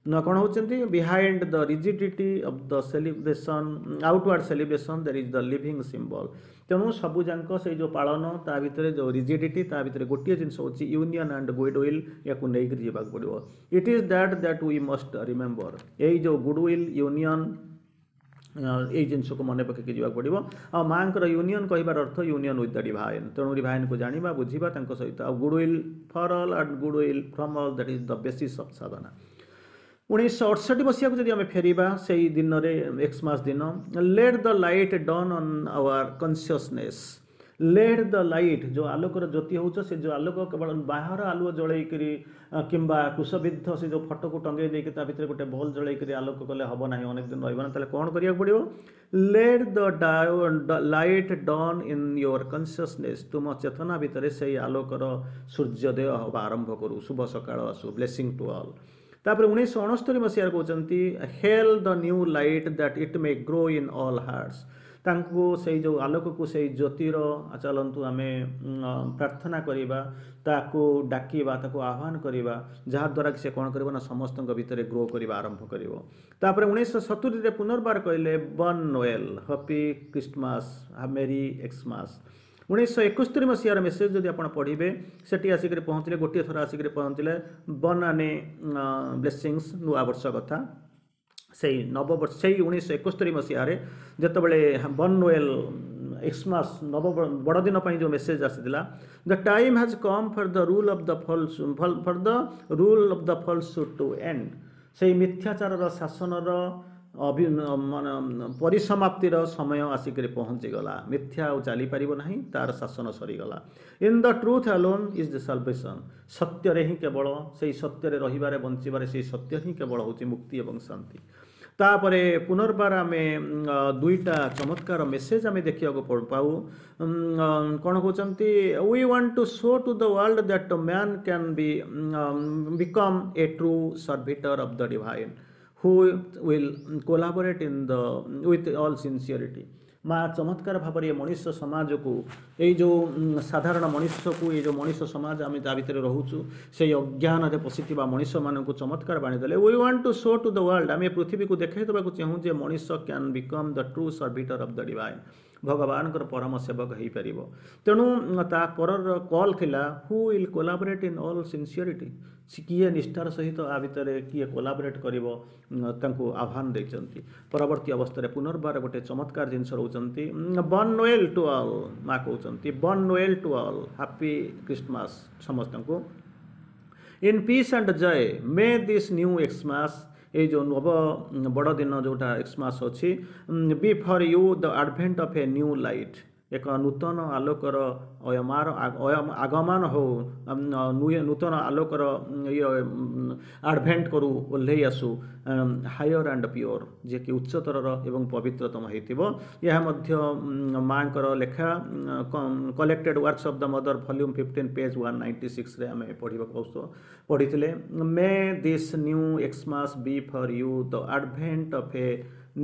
ନା କ'ଣ ହେଉଛନ୍ତି behind the rigidity of the celebration outward celebration there is the living symbol ତେଣୁ ସବୁଯାକ ସେଇ ଯେଉଁ ପାଳନ ତା ଭିତରେ ଯେଉଁ ରିଜିଡିଟି ତା ଭିତରେ ଗୋଟିଏ ଜିନିଷ ହେଉଛି ୟୁନିୟନ୍ ଆଣ୍ଡ ଗୁଡ୍ will ୟାକୁ ନେଇକରି ଯିବାକୁ ପଡ଼ିବ it is that that we must remember ଏଇ ଯେଉଁ ଗୁଡ୍ will union ଏଇ ଜିନିଷକୁ ମନେ ପକେଇକି ଯିବାକୁ ପଡ଼ିବ ଆଉ ମାଆଙ୍କର ୟୁନିୟନ୍ କହିବାର ଅର୍ଥ ୟୁନିୟନ୍ ୱିଥ୍ the divine ତେଣୁ ଡିଭାଇନ୍କୁ ଜାଣିବା ବୁଝିବା ତାଙ୍କ ସହିତ ଆଉ good will for all and good will from all that is the basis of sadhana ଉଣେଇଶହ ଅଠଷଠି ମସିହାକୁ ଯଦି ଆମେ ଫେରିବା ସେଇ ଦିନରେ ଏକ୍ସମାସ୍ ଦିନ let the light dawn on our consciousness let the light ଯେଉଁ ଆଲୋକର ଜ୍ୟୋତି ହେଉଛ ସେ ଯେଉଁ ଆଲୋକ କେବଳ ବାହାର ଆଲୁଅ ଜଳେଇକରି କିମ୍ବା କୁଶବିଦ୍ଧ ସେ ଯେଉଁ ଫଟୋକୁ ଟଙ୍ଗେଇ ଦେଇକି ତା ଭିତରେ ଗୋଟେ ବଲ୍ ଜଳେଇକରି ଆଲୋକ କଲେ ହେବ ନାହିଁ ଅନେକ ଦିନ ରହିବ ନା ତାହେଲେ କ'ଣ କରିବାକୁ ପଡ଼ିବ let the light dawn in your consciousness ତୁମ ଚେତନା ଭିତରେ ସେଇ ଆଲୋକର ସୂର୍ଯ୍ୟୋଦୟ ହେବା ଆରମ୍ଭ କରୁ ଶୁଭ ସକାଳ ଆସୁ ବ୍ଲେସିଂ ଟୁ ଅଲ୍ ତାପରେ ଉଣେଇଶହ ଅଣସ୍ତରୀ ମସିହାରେ କହୁଛନ୍ତି hail the new light that it may grow in all hearts ତାଙ୍କୁ ସେଇ ଯେଉଁ ଆଲୋକକୁ ସେଇ ଜ୍ୟୋତିର ଚାଲନ୍ତୁ ଆମେ ପ୍ରାର୍ଥନା କରିବା ତାକୁ ଡାକିବା ତାକୁ ଆହ୍ୱାନ କରିବା ଯାହାଦ୍ୱାରା କି ସେ କ'ଣ କରିବ ନା ସମସ୍ତଙ୍କ ଭିତରେ ଗ୍ରୋ କରିବା ଆରମ୍ଭ କରିବ ତାପରେ ଉଣେଇଶହ ସତୁରିରେ ପୁନର୍ବାର କହିଲେ Bon Noel happy Christmas merry Xmas ଉଣେଇଶହ ଏକସ୍ତରୀ ମସିହାର ମେସେଜ ଯଦି ଆପଣ ପଢ଼ିବେ ସେଠି ଆସିକରି ପହଞ୍ଚିଲେ ଗୋଟିଏ ଥର ଆସିକରି ପହଞ୍ଚିଲେ ବନ୍ ଆନେ ବ୍ଲେସିଂସ୍ ନୂଆବର୍ଷ କଥା ସେଇ ନବବର୍ଷ ସେଇ ଉଣେଇଶହ ଏକସ୍ତରୀ ମସିହାରେ ଯେତେବେଳେ ବନ୍ ନୋଏଲ୍ ଏକ୍ସମାସ୍ ନବ ବଡ଼ଦିନ ପାଇଁ ଯେଉଁ ମେସେଜ ଆସିଥିଲା the time has come for the rule of the false for the rule of the false to end ସେଇ ମିଥ୍ୟାଚାରର ଶାସନର ଅଭି ମାନେ ପରିସମାପ୍ତିର ସମୟ ଆସିକରି ପହଞ୍ଚିଗଲା ମିଥ୍ୟା ଆଉ ଚାଲିପାରିବ ନାହିଁ ତାର ଶାସନ ସରିଗଲା in the truth alone is the salvation ସତ୍ୟରେ ହିଁ କେବଳ ସେଇ ସତ୍ୟରେ ରହିବାରେ ବଞ୍ଚିବାରେ ସେଇ ସତ୍ୟ ହିଁ କେବଳ ହେଉଛି ମୁକ୍ତି ଏବଂ ଶାନ୍ତି ତାପରେ ପୁନର୍ବାର ଆମେ ଦୁଇଟା ଚମତ୍କାର ମେସେଜ ଆମେ ଦେଖିବାକୁ ପାଉ କ'ଣ କହୁଛନ୍ତି we want to show to the world that man can be become a true servitor of the divine who will collaborate in the with all sincerity ମା ଚମତ୍କାର ଭାବରେ ଏ ମଣିଷ ସମାଜକୁ ଏଇ ଯେଉଁ ସାଧାରଣ ମଣିଷକୁ ଏଇ ଯେଉଁ ମଣିଷ ସମାଜ ଆମେ ତା ଭିତରେ ରହୁଛୁ ସେଇ ଅଜ୍ଞାନରେ ପଶିଥିବା ମଣିଷମାନଙ୍କୁ ଚମତ୍କାର ବାଣୀ ଦେଲେ we want to show to the world ଆମେ ପୃଥିବୀକୁ ଦେଖାଇ ଦେବାକୁ ଚାହୁଁ ଯେ ମଣିଷ can become the true servitor of the divine ଭଗବାନଙ୍କର ପରମ ସେବକ ହେଇପାରିବ ତେଣୁ ତା ପରର କଲ୍ ଥିଲା who will collaborate in all sincerity କିଏ ନିଷ୍ଠାର ସହିତ ଆ ଭିତରେ କିଏ କୋଲାବରେଟ୍ କରିବ ତାଙ୍କୁ ଆହ୍ୱାନ ଦେଇଛନ୍ତି ପରବର୍ତ୍ତୀ ଅବସ୍ଥାରେ ପୁନର୍ବାର ଗୋଟେ ଚମତ୍କାର ଜିନିଷ ରହୁଛନ୍ତି Bon Noel to all ମା କହୁଛନ୍ତି Bon Noel to all happy Christmas ସମସ୍ତଙ୍କୁ in peace and joy may this new Xmas ଏଇ ଯେଉଁ ନବ ବଡ଼ଦିନ ଯେଉଁଟା ଏକ୍ସମାସ୍ ଅଛି be for you the advent of a new light ଏକ ନୂତନ ଆଲୋକର ଅୟମାର ଆଗମନ ହଉ ନୂତନ ଆଲୋକର ଇଏ ଆଡ଼ଭେଣ୍ଟ କରୁ ଓହ୍ଲେଇ ଆସୁ ହାୟର ଆଣ୍ଡ ପିଓର ଯିଏକି ଉଚ୍ଚତରର ଏବଂ ପବିତ୍ରତମ ହେଇଥିବ ଏହା ମଧ୍ୟ ମାଆଙ୍କର ଲେଖା Collected Works of the Mother volume fifteen page one ninety ସିକ୍ସରେ ଆମେ ପଢ଼ିବାକୁ ପଢ଼ିଥିଲେ may this new Xmas be for you the advent of a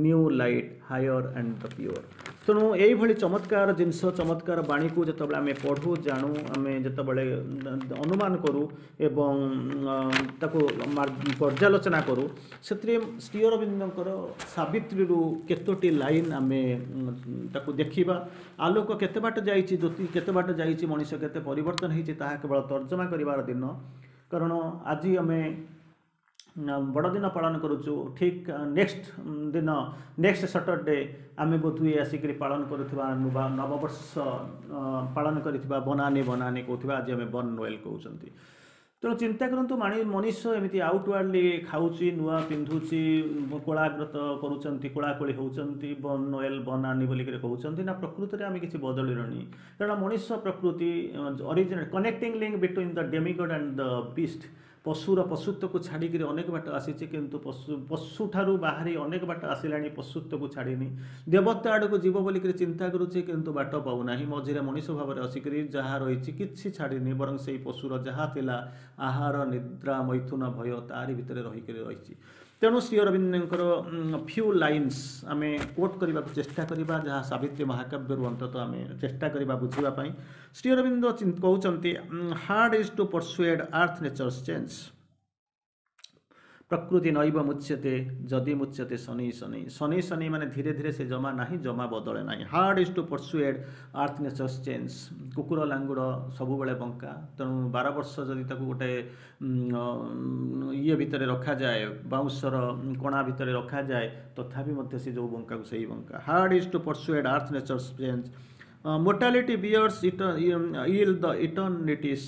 new light higher and the pure ତେଣୁ ଏଇଭଳି ଚମତ୍କାର ଜିନିଷ ଚମତ୍କାର ବାଣୀକୁ ଯେତେବେଳେ ଆମେ ପଢ଼ୁ ଜାଣୁ ଆମେ ଯେତେବେଳେ ଅନୁମାନ କରୁ ଏବଂ ତାକୁ ପର୍ଯ୍ୟାଲୋଚନା କରୁ ସେଥିରେ ଶ୍ରୀ ଅରବିନ୍ଦଙ୍କର ସାବିତ୍ରୀରୁ କେତୋଟି ଲାଇନ୍ ଆମେ ତାକୁ ଦେଖିବା ଆଲୋକ କେତେ ବାଟ ଯାଇଛି ଜ୍ୟୋତି କେତେ ବାଟ ଯାଇଛି ମଣିଷ କେତେ ପରିବର୍ତ୍ତନ ହେଇଛି ତାହା କେବଳ ତର୍ଜମା କରିବାର ଦିନ କାରଣ ଆଜି ଆମେ ବଡ଼ଦିନ ପାଳନ କରୁଛୁ ଠିକ୍ ନେକ୍ସଟ ଦିନ ନେକ୍ସଟ ସଟରଡେ ଆମେ ବୋଧହୁଏ ଆସିକରି ପାଳନ କରୁଥିବା ନୂଆ ନବବର୍ଷ ପାଳନ କରିଥିବା ବନାନି ବନାନି କହୁଥିବା ଆଜି ଆମେ ବନ୍ ନୋଏଲ୍ କହୁଛନ୍ତି ତେଣୁ ଚିନ୍ତା କରନ୍ତୁ ମାଣି ମଣିଷ ଏମିତି ଆଉଟୱାର୍ଡ଼ଲି ଖାଉଛି ନୂଆ ପିନ୍ଧୁଛି କୋଳାଗ୍ରତ କରୁଛନ୍ତି କୋଳାକୋଳି ହେଉଛନ୍ତି ବନ୍ ନୋଏଲ୍ ବନାନି ବୋଲିକରି କହୁଛନ୍ତି ନା ପ୍ରକୃତରେ ଆମେ କିଛି ବଦଳିଲଣି କାରଣ ମଣିଷ ପ୍ରକୃତି origin connecting link between the demigod and the beast ପଶୁର ପଶୁତ୍ୱକୁ ଛାଡ଼ିକିରି ଅନେକ ବାଟ ଆସିଛି କିନ୍ତୁ ପଶୁ ପଶୁଠାରୁ ବାହାରି ଅନେକ ବାଟ ଆସିଲାଣି ପଶୁତ୍ୱକୁ ଛାଡ଼ିନି ଦେବତା ଆଡ଼କୁ ଯିବ ବୋଲିକରି ଚିନ୍ତା କରୁଛି କିନ୍ତୁ ବାଟ ପାଉନାହିଁ ମଝିରେ ମଣିଷ ଭାବରେ ଆସିକରି ଯାହା ରହିଛି କିଛି ଛାଡ଼ିନି ବରଂ ସେଇ ପଶୁର ଯାହା ଥିଲା ଆହାର ନିଦ୍ରା ମୈଥୁନ ଭୟ ତାରି ଭିତରେ ରହିକରି ରହିଛି ତେଣୁ ଶ୍ରୀ ଅରବିନ୍ଦଙ୍କର ଫ୍ୟୁ ଲାଇନ୍ସ ଆମେ କୋଟ୍ କରିବାକୁ ଚେଷ୍ଟା କରିବା ଯାହା ସାବିତ୍ରୀ ମହାକାବ୍ୟରୁ ଅନ୍ତତଃ ଆମେ ଚେଷ୍ଟା କରିବା ବୁଝିବା ପାଇଁ ଶ୍ରୀ ଅରବିନ୍ଦ କହୁଛନ୍ତି hard is to persuade earth nature's change ପ୍ରକୃତି ନୈବ ମୁଚ୍ୟତେ ଯଦି ମୁଚ୍ୟତେ ଶନୈଃ ଶନୈଃ ଶନୈଃ ଶନୈଃ ମାନେ ଧୀରେ ଧୀରେ ସେ ଜମା ନାହିଁ ଜମା ବଦଳେ ନାହିଁ Hard is to persuade earth nature's change କୁକୁର ଲାଙ୍ଗୁଡ଼ ସବୁବେଳେ ବଙ୍କା ତେଣୁ ବାର ବର୍ଷ ଯଦି ତାକୁ ଗୋଟେ ଇଏ ଭିତରେ ରଖାଯାଏ ବାଉଁଶର କଣା ଭିତରେ ରଖାଯାଏ ତଥାପି ମଧ୍ୟ ସେ ଯେଉଁ ବଙ୍କାକୁ ସେଇ ବଙ୍କା Hard is to persuade earth nature's change Mortality bears ill the eternity's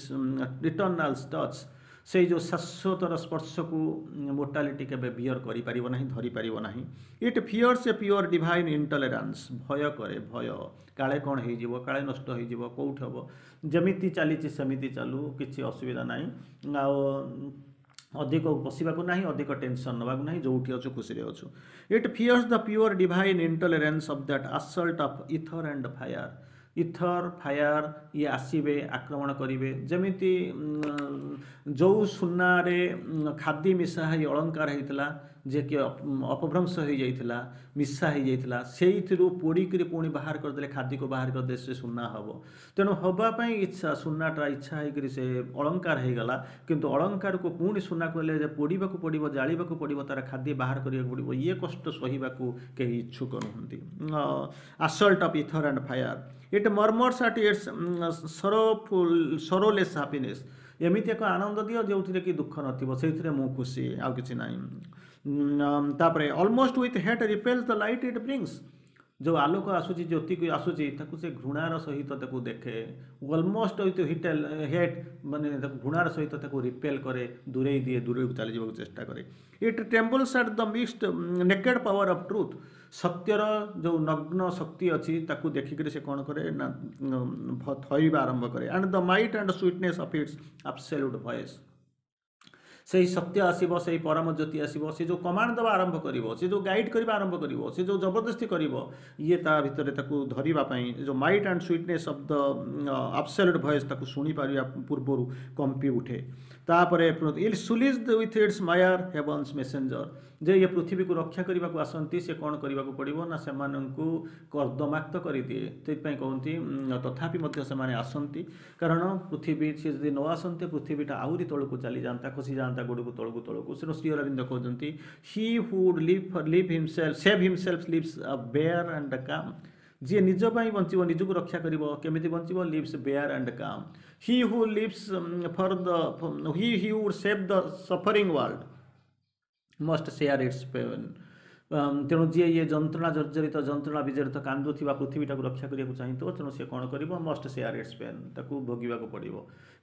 eternal touch ସେଇ ଯେଉଁ ଶାଶ୍ୱତର ସ୍ପର୍ଶକୁ ମୋର୍ଟାଲିଟି କେବେ ବିୟର କରିପାରିବ ନାହିଁ ଧରିପାରିବ ନାହିଁ It fears a pure divine intolerance ଭୟ କରେ ଭୟ କାଳେ କ'ଣ ହେଇଯିବ କାଳେ ନଷ୍ଟ ହେଇଯିବ କେଉଁଠି ହେବ ଯେମିତି ଚାଲିଛି ସେମିତି ଚାଲୁ କିଛି ଅସୁବିଧା ନାହିଁ ଆଉ ଅଧିକ ବସିବାକୁ ନାହିଁ ଅଧିକ ଟେନସନ୍ ନେବାକୁ ନାହିଁ ଯେଉଁଠି ଅଛୁ ଖୁସିରେ ଅଛୁ It fears the pure divine intolerance of that assault of ether and fire ether fire ଇଏ ଆସିବେ ଆକ୍ରମଣ କରିବେ ଯେମିତି ଯେଉଁ ସୁନାରେ ଖାଦି ମିଶା ହେଇ ଅଳଙ୍କାର ହେଇଥିଲା ଯିଏକି ଅପଭ୍ରଂଶ ହେଇଯାଇଥିଲା ମିଶା ହେଇଯାଇଥିଲା ସେଇଥିରୁ ପୋଡ଼ିକିରି ପୁଣି ବାହାର କରିଦେଲେ ଖାଦିକୁ ବାହାର କରିଦେଲେ ସେ ସୁନା ହେବ ତେଣୁ ହେବା ପାଇଁ ଇଚ୍ଛା ସୁନାଟା ଇଚ୍ଛା ହେଇକରି ସେ ଅଳଙ୍କାର ହେଇଗଲା କିନ୍ତୁ ଅଳଙ୍କାରକୁ ପୁଣି ସୁନାକୁ ହେଲେ ଯେ ପୋଡ଼ିବାକୁ ପଡ଼ିବ ଜାଳିବାକୁ ପଡ଼ିବ ତାର ଖାଦି ବାହାର କରିବାକୁ ପଡ଼ିବ ଇଏ କଷ୍ଟ ସହିବାକୁ କେହି ଇଚ୍ଛୁକ ନୁହନ୍ତି Assault of ether and fire it murmurs at its sorrowful sorrowless happiness ଏମିତି ଏକ ଆନନ୍ଦ ଦିଅ ଯେଉଁଥିରେ କି ଦୁଃଖ ନଥିବ ସେଇଥିରେ ମୁଁ ଖୁସି ଆଉ କିଛି ନାହିଁ ତାପରେ Almost with hate repels the light it brings ଯେଉଁ ଆଲୋକ ଆସୁଛି ଜ୍ୟୋତିକୁ ଆସୁଛି ତାକୁ ସେ ଘୃଣାର ସହିତ ତାକୁ ଦେଖେ ଅଲମୋଷ୍ଟ ୱିଥ୍ ହିଟେଲ୍ ହେଟ୍ ମାନେ ତାକୁ ଘୃଣାର ସହିତ ତାକୁ ରିପେଲ୍ କରେ ଦୂରେଇ ଦିଏ ଦୂରକୁ ଚାଲିଯିବାକୁ ଚେଷ୍ଟା କରେ It trembles at the mixed naked power of truth ସତ୍ୟର ଯେଉଁ ନଗ୍ନ ଶକ୍ତି ଅଛି ତାକୁ ଦେଖିକରି ସେ କ'ଣ କରେ ନା ଥରିବା ଆରମ୍ଭ କରେ and the might and sweetness of its absolute voice ସେଇ ସତ୍ୟ ଆସିବ ସେଇ ପରମ ଜ୍ୟୋତି ଆସିବ ସେ ଯେଉଁ କମାଣ୍ଡ ଦେବା ଆରମ୍ଭ କରିବ ସେ ଯେଉଁ ଗାଇଡ଼ କରିବା ଆରମ୍ଭ କରିବ ସେ ଯେଉଁ ଜବରଦସ୍ତି କରିବ ଇଏ ତା ଭିତରେ ତାକୁ ଧରିବା ପାଇଁ ଯେଉଁ might and sweetness of the absolute voice ତାକୁ ଶୁଣିପାରିବା ପୂର୍ବରୁ କମ୍ପି ଉଠେ ତାପରେ It sullies with its mire heaven's messenger ଯେ ଇଏ ପୃଥିବୀକୁ ରକ୍ଷା କରିବାକୁ ଆସନ୍ତି ସେ କ'ଣ କରିବାକୁ ପଡ଼ିବ ନା ସେମାନଙ୍କୁ କର୍ଦ୍ଦମାକ୍ତ କରିଦିଏ ସେଥିପାଇଁ କହନ୍ତି ତଥାପି ମଧ୍ୟ ସେମାନେ ଆସନ୍ତି କାରଣ ପୃଥିବୀ ସେ ଯଦି ନ ଆସନ୍ତେ ପୃଥିବୀଟା ଆହୁରି ତଳକୁ ଚାଲିଯାଆନ୍ତା ଖସିଯାଆନ୍ତା ଗୋଡ଼କୁ ତଳକୁ ତଳକୁ ତେଣୁ ଶ୍ରୀ ଅରବିନ୍ଦ କହୁଛନ୍ତି He who'd live live himself save himself lives bare and calm ଯିଏ ନିଜ ପାଇଁ ବଞ୍ଚିବ ନିଜକୁ ରକ୍ଷା କରିବ କେମିତି ବଞ୍ଚିବ lives bare and calm He who lives for the he he would save the suffering world must share its pain ତେଣୁ ଯିଏ ଇଏ ଯନ୍ତ୍ରଣା ଜର୍ଜରିତ ଯନ୍ତ୍ରଣା ବିଜଡ଼ିତ କାନ୍ଦୁଥିବା ପୃଥିବୀଟାକୁ ରକ୍ଷା କରିବାକୁ ଚାହିଁଥିବ ତେଣୁ ସେ କ'ଣ କରିବ ମଷ୍ଟ ସେୟାର it's pain ତାକୁ ଭୋଗିବାକୁ ପଡ଼ିବ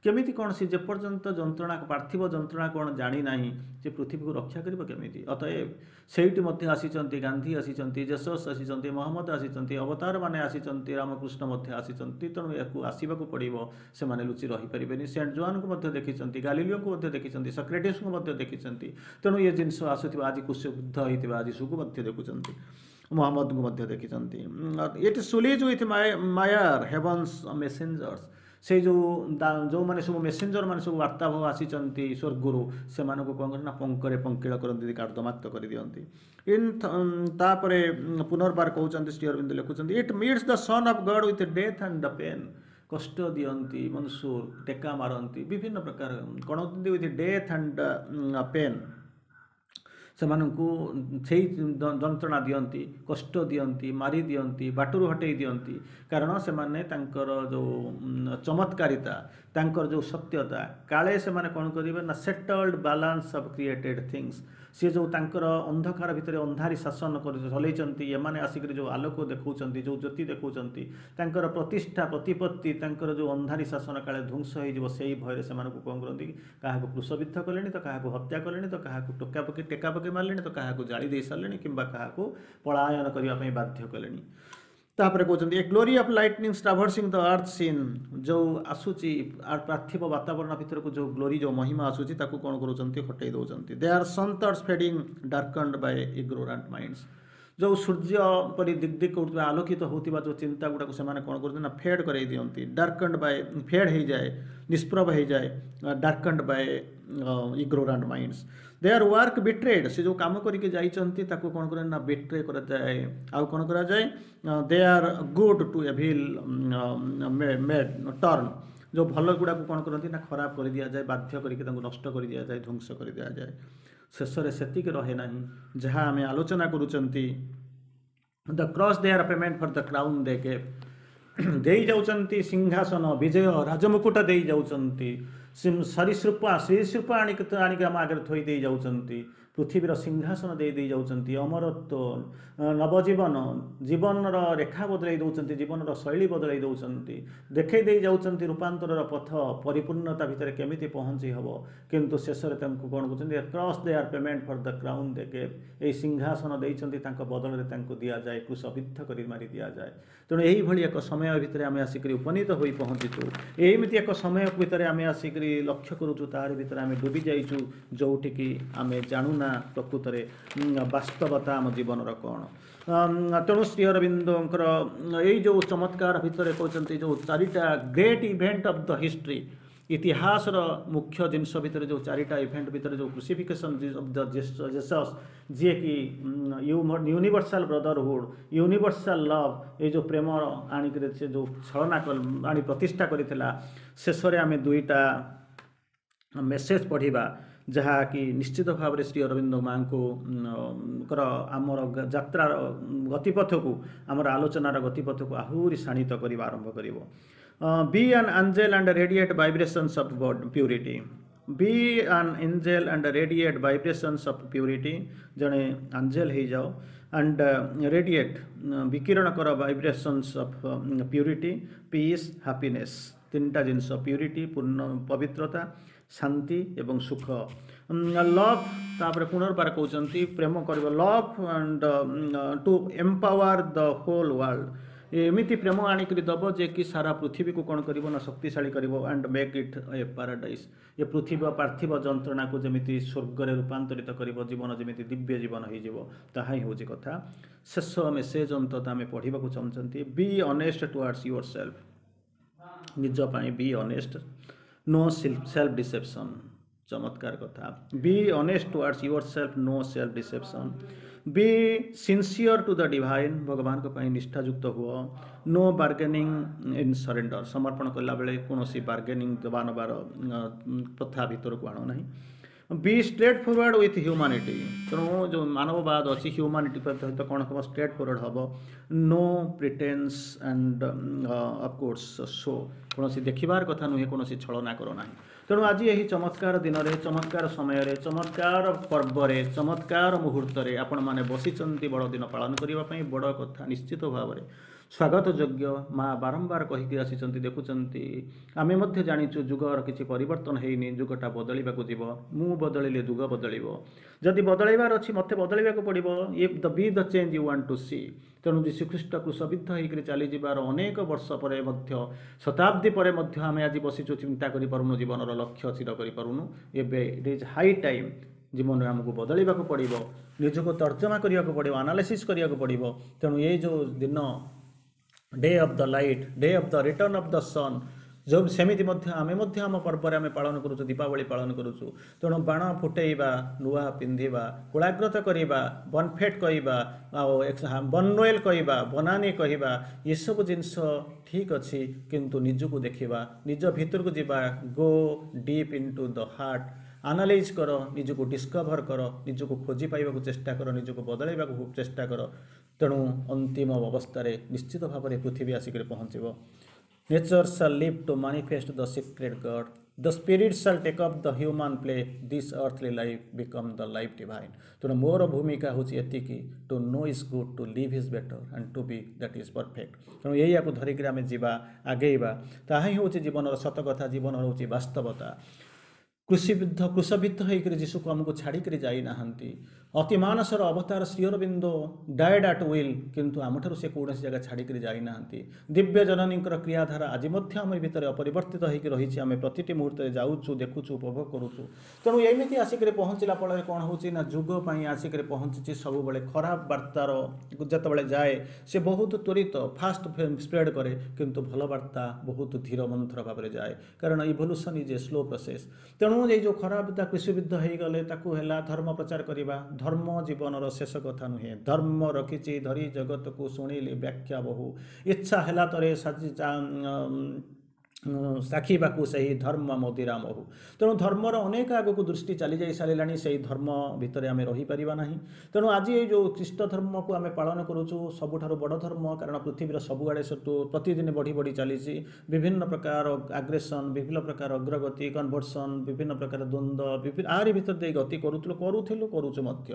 କେମିତି କ'ଣ ସେ ଯେପର୍ଯ୍ୟନ୍ତ ଯନ୍ତ୍ରଣା ପାର୍ଥିବ ଯନ୍ତ୍ରଣା କ'ଣ ଜାଣିନାହିଁ ସେ ପୃଥିବୀକୁ ରକ୍ଷା କରିବ କେମିତି ଅତଏବ ସେଇଠି ମଧ୍ୟ ଆସିଛନ୍ତି ଗାନ୍ଧୀ ଆସିଛନ୍ତି ଜେସସ୍ ଆସିଛନ୍ତି ମହମ୍ମଦ ଆସିଛନ୍ତି ଅବତାରମାନେ ଆସିଛନ୍ତି ରାମକୃଷ୍ଣ ମଧ୍ୟ ଆସିଛନ୍ତି ତେଣୁ ଏହାକୁ ଆସିବାକୁ ପଡ଼ିବ ସେମାନେ ଲୁଚି ରହିପାରିବେନି ସେଣ୍ଟ ଜୋଆନଙ୍କୁ ମଧ୍ୟ ଦେଖିଛନ୍ତି ଗାଲିଲିଓଙ୍କୁ ମଧ୍ୟ ଦେଖିଛନ୍ତି ସକ୍ରେଟିସ୍ଙ୍କୁ ମଧ୍ୟ ଦେଖିଛନ୍ତି ତେଣୁ ଏ ଜିନିଷ ଆସୁଥିବା ଆଜି କ୍ରୁଶବିଦ୍ଧ ହେଇଥିବା ଯୀଶୁକୁ ମଧ୍ୟ ଦେଖୁଛନ୍ତି ମହମ୍ମଦଙ୍କୁ ମଧ୍ୟ ଦେଖିଛନ୍ତି It sullies with mire heaven's messengers ସେଇ ଯେଉଁ ଯେଉଁମାନେ ସବୁ ମେସେଞ୍ଜର ମାନେ ସବୁ ବାର୍ତ୍ତାବହ ଆସିଛନ୍ତି ସ୍ୱର୍ଗରୁ ସେମାନଙ୍କୁ କ'ଣ କରନ୍ତି ନା ପଙ୍କରେ ପଙ୍କିଳ କରନ୍ତି କାର୍ଦ୍ଦମାକ୍ତ କରିଦିଅନ୍ତି ଇନ୍ ତାପରେ ପୁନର୍ବାର କହୁଛନ୍ତି ଶ୍ରୀ ଅରବିନ୍ଦ ଲେଖୁଛନ୍ତି It meets the Son of God with death and the pain କଷ୍ଟ ଦିଅନ୍ତି ମନସୁର ଟେକା ମାରନ୍ତି ବିଭିନ୍ନ ପ୍ରକାର କ'ଣ with death and pain ସେମାନଙ୍କୁ ସେଇ ଯନ୍ତ୍ରଣା ଦିଅନ୍ତି କଷ୍ଟ ଦିଅନ୍ତି ମାରି ଦିଅନ୍ତି ବାଟରୁ ହଟେଇ ଦିଅନ୍ତି କାରଣ ସେମାନେ ତାଙ୍କର ଯେଉଁ ଚମତ୍କାରିତା ତାଙ୍କର ଯେଉଁ ସତ୍ୟତା କାଳେ ସେମାନେ କ'ଣ କରିବେ ନା settled balance of created things ସିଏ ଯେଉଁ ତାଙ୍କର ଅନ୍ଧକାର ଭିତରେ ଅନ୍ଧାରୀ ଶାସନ କରି ଚଲେଇଛନ୍ତି ଏମାନେ ଆସିକରି ଯେଉଁ ଆଲୋକ ଦେଖାଉଛନ୍ତି ଯେଉଁ ଜ୍ୟୋତି ଦେଖାଉଛନ୍ତି ତାଙ୍କର ପ୍ରତିଷ୍ଠା ପ୍ରତିପତ୍ତି ତାଙ୍କର ଯେଉଁ ଅନ୍ଧାରୀ ଶାସନ କାଳେ ଧ୍ୱଂସ ହେଇଯିବ ସେଇ ଭୟରେ ସେମାନଙ୍କୁ କ'ଣ କରନ୍ତି କାହାକୁ କ୍ରୁଶବିଦ୍ଧ କଲେଣି ତ କାହାକୁ ହତ୍ୟା କଲେଣି ତ କାହାକୁ ଟୋକା ପକେଇ ଟେକା ପକେଇ ମାରିଲେଣି ତ କାହାକୁ ଜାଳି ଦେଇ ସାରିଲେଣି କିମ୍ବା କାହାକୁ ପଳାୟନ କରିବା ପାଇଁ ବାଧ୍ୟ କଲେଣି ତାପରେ କହୁଛନ୍ତି A glory of lightning traversing the earth scene ଯେଉଁ ଆସୁଛି ପାର୍ଥିବ ବାତାବରଣ ଭିତରକୁ ଯେଉଁ ଗ୍ଲୋରି ଯେଉଁ ମହିମା ଆସୁଛି ତାକୁ କ'ଣ କରୁଛନ୍ତି ହଟେଇ ଦେଉଛନ୍ତି Their sun thoughts fading darkened by ignorant minds ଯେଉଁ ସୂର୍ଯ୍ୟ ପରି ଦିକ୍ ଦିକ୍ କରୁଥିବା ଆଲୋକିତ ହେଉଥିବା ଯେଉଁ ଚିନ୍ତା ଗୁଡ଼ାକୁ ସେମାନେ କ'ଣ କରୁଛନ୍ତି ନା ଫେଡ଼୍ କରାଇ ଦିଅନ୍ତି ଡାର୍କଣ୍ଡ ବାଇ ଫେଡ଼୍ ହେଇଯାଏ ନିଷ୍ପ୍ରଭ ହେଇଯାଏ darkened by ignorant minds Their work betrayed ସେ ଯେଉଁ କାମ କରିକି ଯାଇଛନ୍ତି ତାକୁ କ'ଣ କରନ୍ତି ନା ବିଟ୍ରେ କରାଯାଏ ଆଉ କ'ଣ କରାଯାଏ Their good to evil made turn ଯେଉଁ ଭଲ ଗୁଡ଼ାକୁ କ'ଣ କରନ୍ତି ନା ଖରାପ କରିଦିଆଯାଏ ବାଧ୍ୟ କରିକି ତାଙ୍କୁ ନଷ୍ଟ କରିଦିଆଯାଏ ଧ୍ୱଂସ କରିଦିଆଯାଏ ଶେଷରେ ସେତିକି ରହେ ନାହିଁ ଯାହା ଆମେ ଆଲୋଚନା କରୁଛନ୍ତି the cross their payment for the crown they gave ଦେଇ ଯାଉଛନ୍ତି ସିଂହାସନ ବିଜୟ ରାଜମୁକୁଟ ଦେଇ ଯାଉଛନ୍ତି ସରୀସୃପ ସରୀସୃପ ଆଣିକି ଆଣିକି ଆମ ଆଗରେ ଥୋଇ ଦେଇ ଯାଉଛନ୍ତି ପୃଥିବୀର ସିଂହାସନ ଦେଇ ଦେଇ ଯାଉଛନ୍ତି ଅମରତ୍ୱ ନବଜୀବନ ଜୀବନର ରେଖା ବଦଳାଇ ଦେଉଛନ୍ତି ଜୀବନର ଶୈଳୀ ବଦଳାଇ ଦେଉଛନ୍ତି ଦେଖାଇ ଦେଇ ଯାଉଛନ୍ତି ରୂପାନ୍ତରର ପଥ ପରିପୂର୍ଣ୍ଣତା ଭିତରେ କେମିତି ପହଞ୍ଚି ହେବ କିନ୍ତୁ ଶେଷରେ ତାଙ୍କୁ କ'ଣ କହୁଛନ୍ତି cross their payment for the crown they gave ଏଇ ସିଂହାସନ ଦେଇଛନ୍ତି ତାଙ୍କ ବଦଳରେ ତାଙ୍କୁ ଦିଆଯାଏ କ୍ରୁଶବିଦ୍ଧ କରି ମାରି ଦିଆଯାଏ ତେଣୁ ଏଇଭଳି ଏକ ସମୟ ଭିତରେ ଆମେ ଆସିକରି ଉପନୀତ ହୋଇ ପହଞ୍ଚିଛୁ ଏମିତି ଏକ ସମୟ ଭିତରେ ଆମେ ଆସିକରି ଲକ୍ଷ୍ୟ କରୁଛୁ ତାରି ଭିତରେ ଆମେ ଡୁବି ଯାଇଛୁ ଯେଉଁଠିକି ଆମେ ଜାଣୁନା ପ୍ରକୃତରେ ବାସ୍ତବତା ଆମ ଜୀବନର କ'ଣ ତେଣୁ ଶ୍ରୀ ଅରବିନ୍ଦଙ୍କର ଏଇ ଯେଉଁ ଚମତ୍କାର ଭିତରେ କହୁଛନ୍ତି ଯେଉଁ ଚାରିଟା great event of the history ଇତିହାସର ମୁଖ୍ୟ ଜିନିଷ ଭିତରେ ଯେଉଁ ଚାରିଟା ଇଭେଣ୍ଟ ଭିତରେ ଯେଉଁ କ୍ରୁସିଫିକେସନ୍ ଅଫ୍ the Jesus ଯିଏକି ୟୁନିଭର୍ସାଲ ବ୍ରଦରହୁଡ଼ ୟୁନିଭର୍ସାଲ ଲଭ୍ ଏଇ ଯେଉଁ ପ୍ରେମ ଆଣିକରି ସେ ଯେଉଁ ଛଳନା ଆଣି ପ୍ରତିଷ୍ଠା କରିଥିଲା ଶେଷରେ ଆମେ ଦୁଇଟା ମେସେଜ ପଢ଼ିବା ଯାହାକି ନିଶ୍ଚିତ ଭାବରେ ଶ୍ରୀ ଅରବିନ୍ଦ ମାଙ୍କୁ ଙ୍କର ଆମର ଯାତ୍ରାର ଗତିପଥକୁ ଆମର ଆଲୋଚନାର ଗତିପଥକୁ ଆହୁରି ଶାଣିତ କରିବା ଆରମ୍ଭ କରିବ be an angel and radiate vibrations of purity be an angel and radiate vibrations of purity ଜଣେ ଆଞ୍ଜେଲ ହେଇଯାଅ ଆଣ୍ଡ ରେଡ଼ିଏଟ୍ ବିକିରଣ କର vibrations of purity peace happiness ତିନିଟା ଜିନିଷ ପ୍ୟୁରିଟି ପୂର୍ଣ୍ଣ ପବିତ୍ରତା ଶାନ୍ତି ଏବଂ ସୁଖ ଲଭ୍ ତାପରେ ପୁନର୍ବାର କହୁଛନ୍ତି ପ୍ରେମ କରିବ love and to empower the whole world ଏମିତି ପ୍ରେମ ଆଣିକରି ଦେବ ଯେ କି ସାରା ପୃଥିବୀକୁ କ'ଣ କରିବ ନା ଶକ୍ତିଶାଳୀ କରିବ and make it a paradise ଏ ପୃଥିବୀ ପାର୍ଥିବ ଯନ୍ତ୍ରଣାକୁ ଯେମିତି ସ୍ୱର୍ଗରେ ରୂପାନ୍ତରିତ କରିବ ଜୀବନ ଯେମିତି ଦିବ୍ୟ ଜୀବନ ହେଇଯିବ ତାହା ହିଁ ହେଉଛି କଥା ଶେଷ ମେସେଜ ଅନ୍ତତଃ ଆମେ ପଢ଼ିବାକୁ ଚାହୁଁଛନ୍ତି be honest towards yourself ନିଜ ପାଇଁ be honest no self deception ଚମତ୍କାର କଥା be honest towards yourself no self deception be sincere to the divine ଭଗବାନଙ୍କ ପାଇଁ ନିଷ୍ଠାଯୁକ୍ତ ହୁଅ no bargaining in surrender ସମର୍ପଣ କଲାବେଳେ କୌଣସି ବାର୍ଗେନିଂ ଦେବା ନେବାର ପ୍ରଥା ଭିତରକୁ ଆଣ ନାହିଁ be straightforward with humanity ତେଣୁ ଯେଉଁ ମାନବବାଦ ଅଛି ହ୍ୟୁମାନିଟି ସହିତ କ'ଣ ହେବ ଷ୍ଟ୍ରେଟ୍ ଫରୱାର୍ଡ଼ ହେବ no pretence and of course show କୌଣସି ଦେଖିବାର କଥା ନୁହେଁ କୌଣସି ଛଳନା କର ନାହିଁ ତେଣୁ ଆଜି ଏହି ଚମତ୍କାର ଦିନରେ ଚମତ୍କାର ସମୟରେ ଚମତ୍କାର ପର୍ବରେ ଚମତ୍କାର ମୁହୂର୍ତ୍ତରେ ଆପଣମାନେ ବସିଛନ୍ତି ବଡ଼ ଦିନ ପାଳନ କରିବା ପାଇଁ ବଡ଼ କଥା ନିଶ୍ଚିତ ଭାବରେ ସ୍ୱାଗତ ଯୋଗ୍ୟ ମା ବାରମ୍ବାର କହିକି ଆସିଛନ୍ତି ଦେଖୁଛନ୍ତି ଆମେ ମଧ୍ୟ ଜାଣିଛୁ ଯୁଗର କିଛି ପରିବର୍ତ୍ତନ ହେଇନି ଯୁଗଟା ବଦଳିବାକୁ ଯିବ ମୁଁ ବଦଳିଲେ ଯୁଗ ବଦଳିବ ଯଦି ବଦଳାଇବାର ଅଛି ମୋତେ ବଦଳିବାକୁ ପଡ଼ିବ if the be the change you want to see ତେଣୁ ଯୀଶୁଖ୍ରୀଷ୍ଟ କ୍ରୁଶବିଦ୍ଧ ହେଇକରି ଚାଲିଯିବାର ଅନେକ ବର୍ଷ ପରେ ମଧ୍ୟ ଶତାବ୍ଦୀ ପରେ ମଧ୍ୟ ଆମେ ଆଜି ବସିଛୁ ଚିନ୍ତା କରିପାରୁନୁ ଜୀବନର ଲକ୍ଷ୍ୟ ସ୍ଥିର କରିପାରୁନୁ ଏବେ it is high time ଜୀବନରେ ଆମକୁ ବଦଳିବାକୁ ପଡ଼ିବ ନିଜକୁ ତର୍ଜମା କରିବାକୁ ପଡ଼ିବ ଆନାଲିସିସ୍ କରିବାକୁ ପଡ଼ିବ ତେଣୁ ଏଇ ଯେଉଁ ଦିନ day of the light day of the return of the sun ଯେଉଁ ସେମିତି ମଧ୍ୟ ଆମେ ମଧ୍ୟ ଆମ ପର୍ବରେ ଆମେ ପାଳନ କରୁଛୁ ଦୀପାବଳି ପାଳନ କରୁଛୁ ତେଣୁ ବାଣ ଫୁଟେଇବା ନୂଆ ପିନ୍ଧିବା କୋଳାଗ୍ରତ କରିବା ବନଫେଟ୍ କହିବା ଆଉ ବନନୋଏଲ କହିବା ବନାନୀ କହିବା ଏସବୁ ଜିନିଷ ଠିକ୍ ଅଛି କିନ୍ତୁ ନିଜକୁ ଦେଖିବା ନିଜ ଭିତରକୁ ଯିବା go deep into the heart analyse କର ନିଜକୁ ଡିସ୍କଭର କର ନିଜକୁ ଖୋଜି ପାଇବାକୁ ଚେଷ୍ଟା କର ନିଜକୁ ବଦଳାଇବାକୁ ଚେଷ୍ଟା କର ତେଣୁ ଅନ୍ତିମ ଅବସ୍ଥାରେ ନିଶ୍ଚିତ ଭାବରେ ପୃଥିବୀ ଆସିକରି ପହଞ୍ଚିବ nature shall live to manifest the secret God the spirit shall take up the human play this earthly life become the life divine ତେଣୁ ମୋର ଭୂମିକା ହେଉଛି ଏତିକି to know is good to live is better and to be that is perfect ତେଣୁ ଏଇଆକୁ ଧରିକିରି ଆମେ ଯିବା ଆଗେଇବା ତାହା ହିଁ ହେଉଛି ଜୀବନର ସତ କଥା ଜୀବନ ହେଉଛି ବାସ୍ତବତା କ୍ରୁଶବିଦ୍ଧ କ୍ରୁଶବିଦ୍ଧ ହେଇକରି ଯୀଶୁକୁ ଆମକୁ ଛାଡ଼ିକରି ଯାଇନାହାନ୍ତି ଅତିମାନସର ଅବତାର Shri Arvind died at will କିନ୍ତୁ ଆମଠାରୁ ସେ କୌଣସି ଜାଗା ଛାଡ଼ିକରି ଯାଇନାହାନ୍ତି ଦିବ୍ୟ ଜନନୀଙ୍କର କ୍ରିୟାଧାରା ଆଜି ମଧ୍ୟ ଆମ ଭିତରେ ଅପରିବର୍ତ୍ତିତ ହେଇକି ରହିଛି ଆମେ ପ୍ରତିଟି ମୁହୂର୍ତ୍ତରେ ଯାଉଛୁ ଦେଖୁଛୁ ଉପଭୋଗ କରୁଛୁ ତେଣୁ ଏମିତି ଆସିକରି ପହଞ୍ଚିଲା ଫଳରେ କ'ଣ ହେଉଛି ନା ଯୁଗ ପାଇଁ ଆସିକରି ପହଞ୍ଚିଛି ସବୁବେଳେ ଖରାପ ବାର୍ତ୍ତାର ଯେତେବେଳେ ଯାଏ ସେ ବହୁତ ତ୍ୱରିତ ଫାଷ୍ଟ ସ୍ପ୍ରେଡ୍ କରେ କିନ୍ତୁ ଭଲ ବାର୍ତ୍ତା ବହୁତ ଧୀର ମନ୍ଥର ଭାବରେ ଯାଏ କାରଣ evolution is a slow process ତେଣୁ ଏଇ ଯେଉଁ ଖରାପ କ୍ରୁଶବିଦ୍ଧ ହେଇଗଲେ ତାକୁ ହେଲା ଧର୍ମ ପ୍ରଚାର କରିବା ଧର୍ମ ଜୀବନର ଶେଷ କଥା ନୁହେଁ ଧର୍ମ ରଖିଛି ଧରି ଜଗତକୁ ଶୁଣିଲି ବ୍ୟାଖ୍ୟା ବହୁ ଇଚ୍ଛା ହେଲା ତରେ ସାଜି ଚାଖିବାକୁ ସେହି ଧର୍ମ ମଦିରା ମହୁ। ତେଣୁ ଧର୍ମର ଅନେକ ଆଗକୁ ଦୃଷ୍ଟି ଚାଲିଯାଇ ସାରିଲାଣି, ସେଇ ଧର୍ମ ଭିତରେ ଆମେ ରହିପାରିବା ନାହିଁ। ତେଣୁ ଆଜି ଏଇ ଯେଉଁ ଖ୍ରୀଷ୍ଟ ଧର୍ମକୁ ଆମେ ପାଳନ କରୁଛୁ, ସବୁଠାରୁ ବଡ଼ ଧର୍ମ, କାରଣ ପୃଥିବୀର ସବୁଆଡ଼େ ସେଠୁ ପ୍ରତିଦିନ ବଢ଼ି ବଢ଼ି ଚାଲିଛି। ବିଭିନ୍ନ ପ୍ରକାର ଆଗ୍ରେସନ୍, ବିଭିନ୍ନ ପ୍ରକାର ଅଗ୍ରଗତି, କନଭର୍ସନ୍, ବିଭିନ୍ନ ପ୍ରକାର ଦ୍ୱନ୍ଦ୍ୱ, ବିଭିନ୍ନ ଆରି ଭିତରେ ଦେଇ ଗତି କରୁଥିଲୁ, କରୁଥିଲୁ, କରୁଛୁ ମଧ୍ୟ।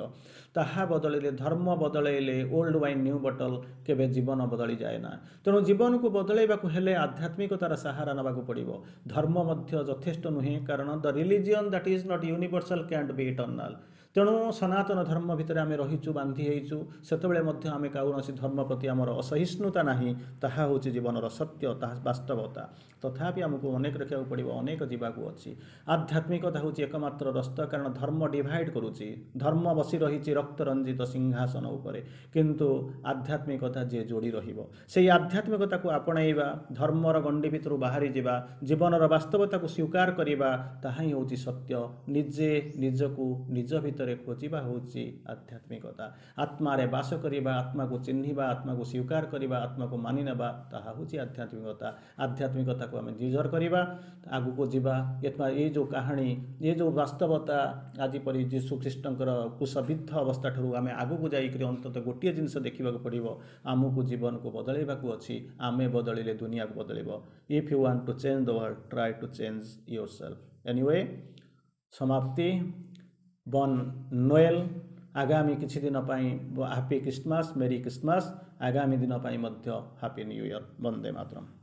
ତାହା ବଦଳିଲେ, ଧର୍ମ ବଦଳେଇଲେ, ଓଲ୍ଡ ୱାଇନ୍ ନ୍ୟୁ ବଟଲ୍, କେବେ ଜୀବନ ବଦଳିଯାଏ ନା। ତେଣୁ ଜୀବନକୁ ବଦଳାଇବାକୁ ହେଲେ ଆଧ୍ୟାତ୍ମିକତାର ସାହାରା ନେବାକୁ ପଡ଼ିବ। ଧର୍ମ ମଧ୍ୟ ଯଥେଷ୍ଟ ନୁହେଁ, କାରଣ the religion that is not universal cantt B eternal. ତେଣୁ ସନାତନ ଧର୍ମ ଭିତରେ ଆମେ ରହିଛୁ, ବାନ୍ଧି ହେଇଛୁ, ସେତେବେଳେ ମଧ୍ୟ ଆମେ କୌଣସି ଧର୍ମ ପ୍ରତି ଆମର ଅସହିଷ୍ଣୁତା ନାହିଁ। ତାହା ହେଉଛି ଜୀବନର ସତ୍ୟ, ତାହା ବାସ୍ତବତା। ତଥାପି ଆମକୁ ଅନେକ ରଖିବାକୁ ପଡ଼ିବ, ଅନେକ ଯିବାକୁ ଅଛି। ଆଧ୍ୟାତ୍ମିକତା ହେଉଛି ଏକମାତ୍ର ରସ୍ତା, କାରଣ ଧର୍ମ ଡିଭାଇଡ଼ କରୁଛି। ଧର୍ମ ବସି ରହିଛି ରକ୍ତରଞ୍ଜିତ ସିଂହାସନ ଉପରେ, କିନ୍ତୁ ଆଧ୍ୟାତ୍ମିକତା ଯିଏ ଯୋଡ଼ି ରହିବ, ସେଇ ଆଧ୍ୟାତ୍ମିକତାକୁ ଆପଣେଇବା, ଧର୍ମର ଗଣ୍ଡି ଭିତରୁ ବାହାରି ଯିବା, ଜୀବନର ବାସ୍ତବତାକୁ ସ୍ୱୀକାର କରିବା, ତାହା ହିଁ ହେଉଛି ସତ୍ୟ। ନିଜେ ନିଜକୁ ନିଜ ଭିତରେ ଖୋଜିବା ହେଉଛି ଆଧ୍ୟାତ୍ମିକତା। ଆତ୍ମାରେ ବାସ କରିବା, ଆତ୍ମାକୁ ଚିହ୍ନିବା, ଆତ୍ମାକୁ ସ୍ୱୀକାର କରିବା, ଆତ୍ମାକୁ ମାନି ନେବା, ତାହା ହେଉଛି ଆଧ୍ୟାତ୍ମିକତା। ଆଧ୍ୟାତ୍ମିକତାକୁ ଆମେ ନିଜର କରିବା, ଆଗକୁ ଯିବା। ଏଇ ଯେଉଁ କାହାଣୀ, ଏ ଯେଉଁ ବାସ୍ତବତା, ଆଜି ପରି ଯୀଶୁ ଖ୍ରୀଷ୍ଟଙ୍କର କୁଶବିଦ୍ଧ ଅବସ୍ଥା ଠାରୁ ଆମେ ଆଗକୁ ଯାଇକରି ଅନ୍ତତଃ ଗୋଟିଏ ଜିନିଷ ଦେଖିବାକୁ ପଡ଼ିବ, ଆମକୁ ଜୀବନକୁ ବଦଳାଇବାକୁ ଅଛି। ଆମେ ବଦଳିଲେ ଦୁନିଆକୁ ବଦଳିବ। If you want to change the world, try to change yourself. Anyway, ସମାପ୍ତି। ବନ୍ ନୋଏଲ। ଆଗାମୀ କିଛି ଦିନ ପାଇଁ ହାପି ଖ୍ରୀଷ୍ଟମାସ, ମେରି ଖ୍ରୀଷ୍ଟମାସ। ଆଗାମୀ ଦିନ ପାଇଁ ମଧ୍ୟ happy new year. Vande Mataram.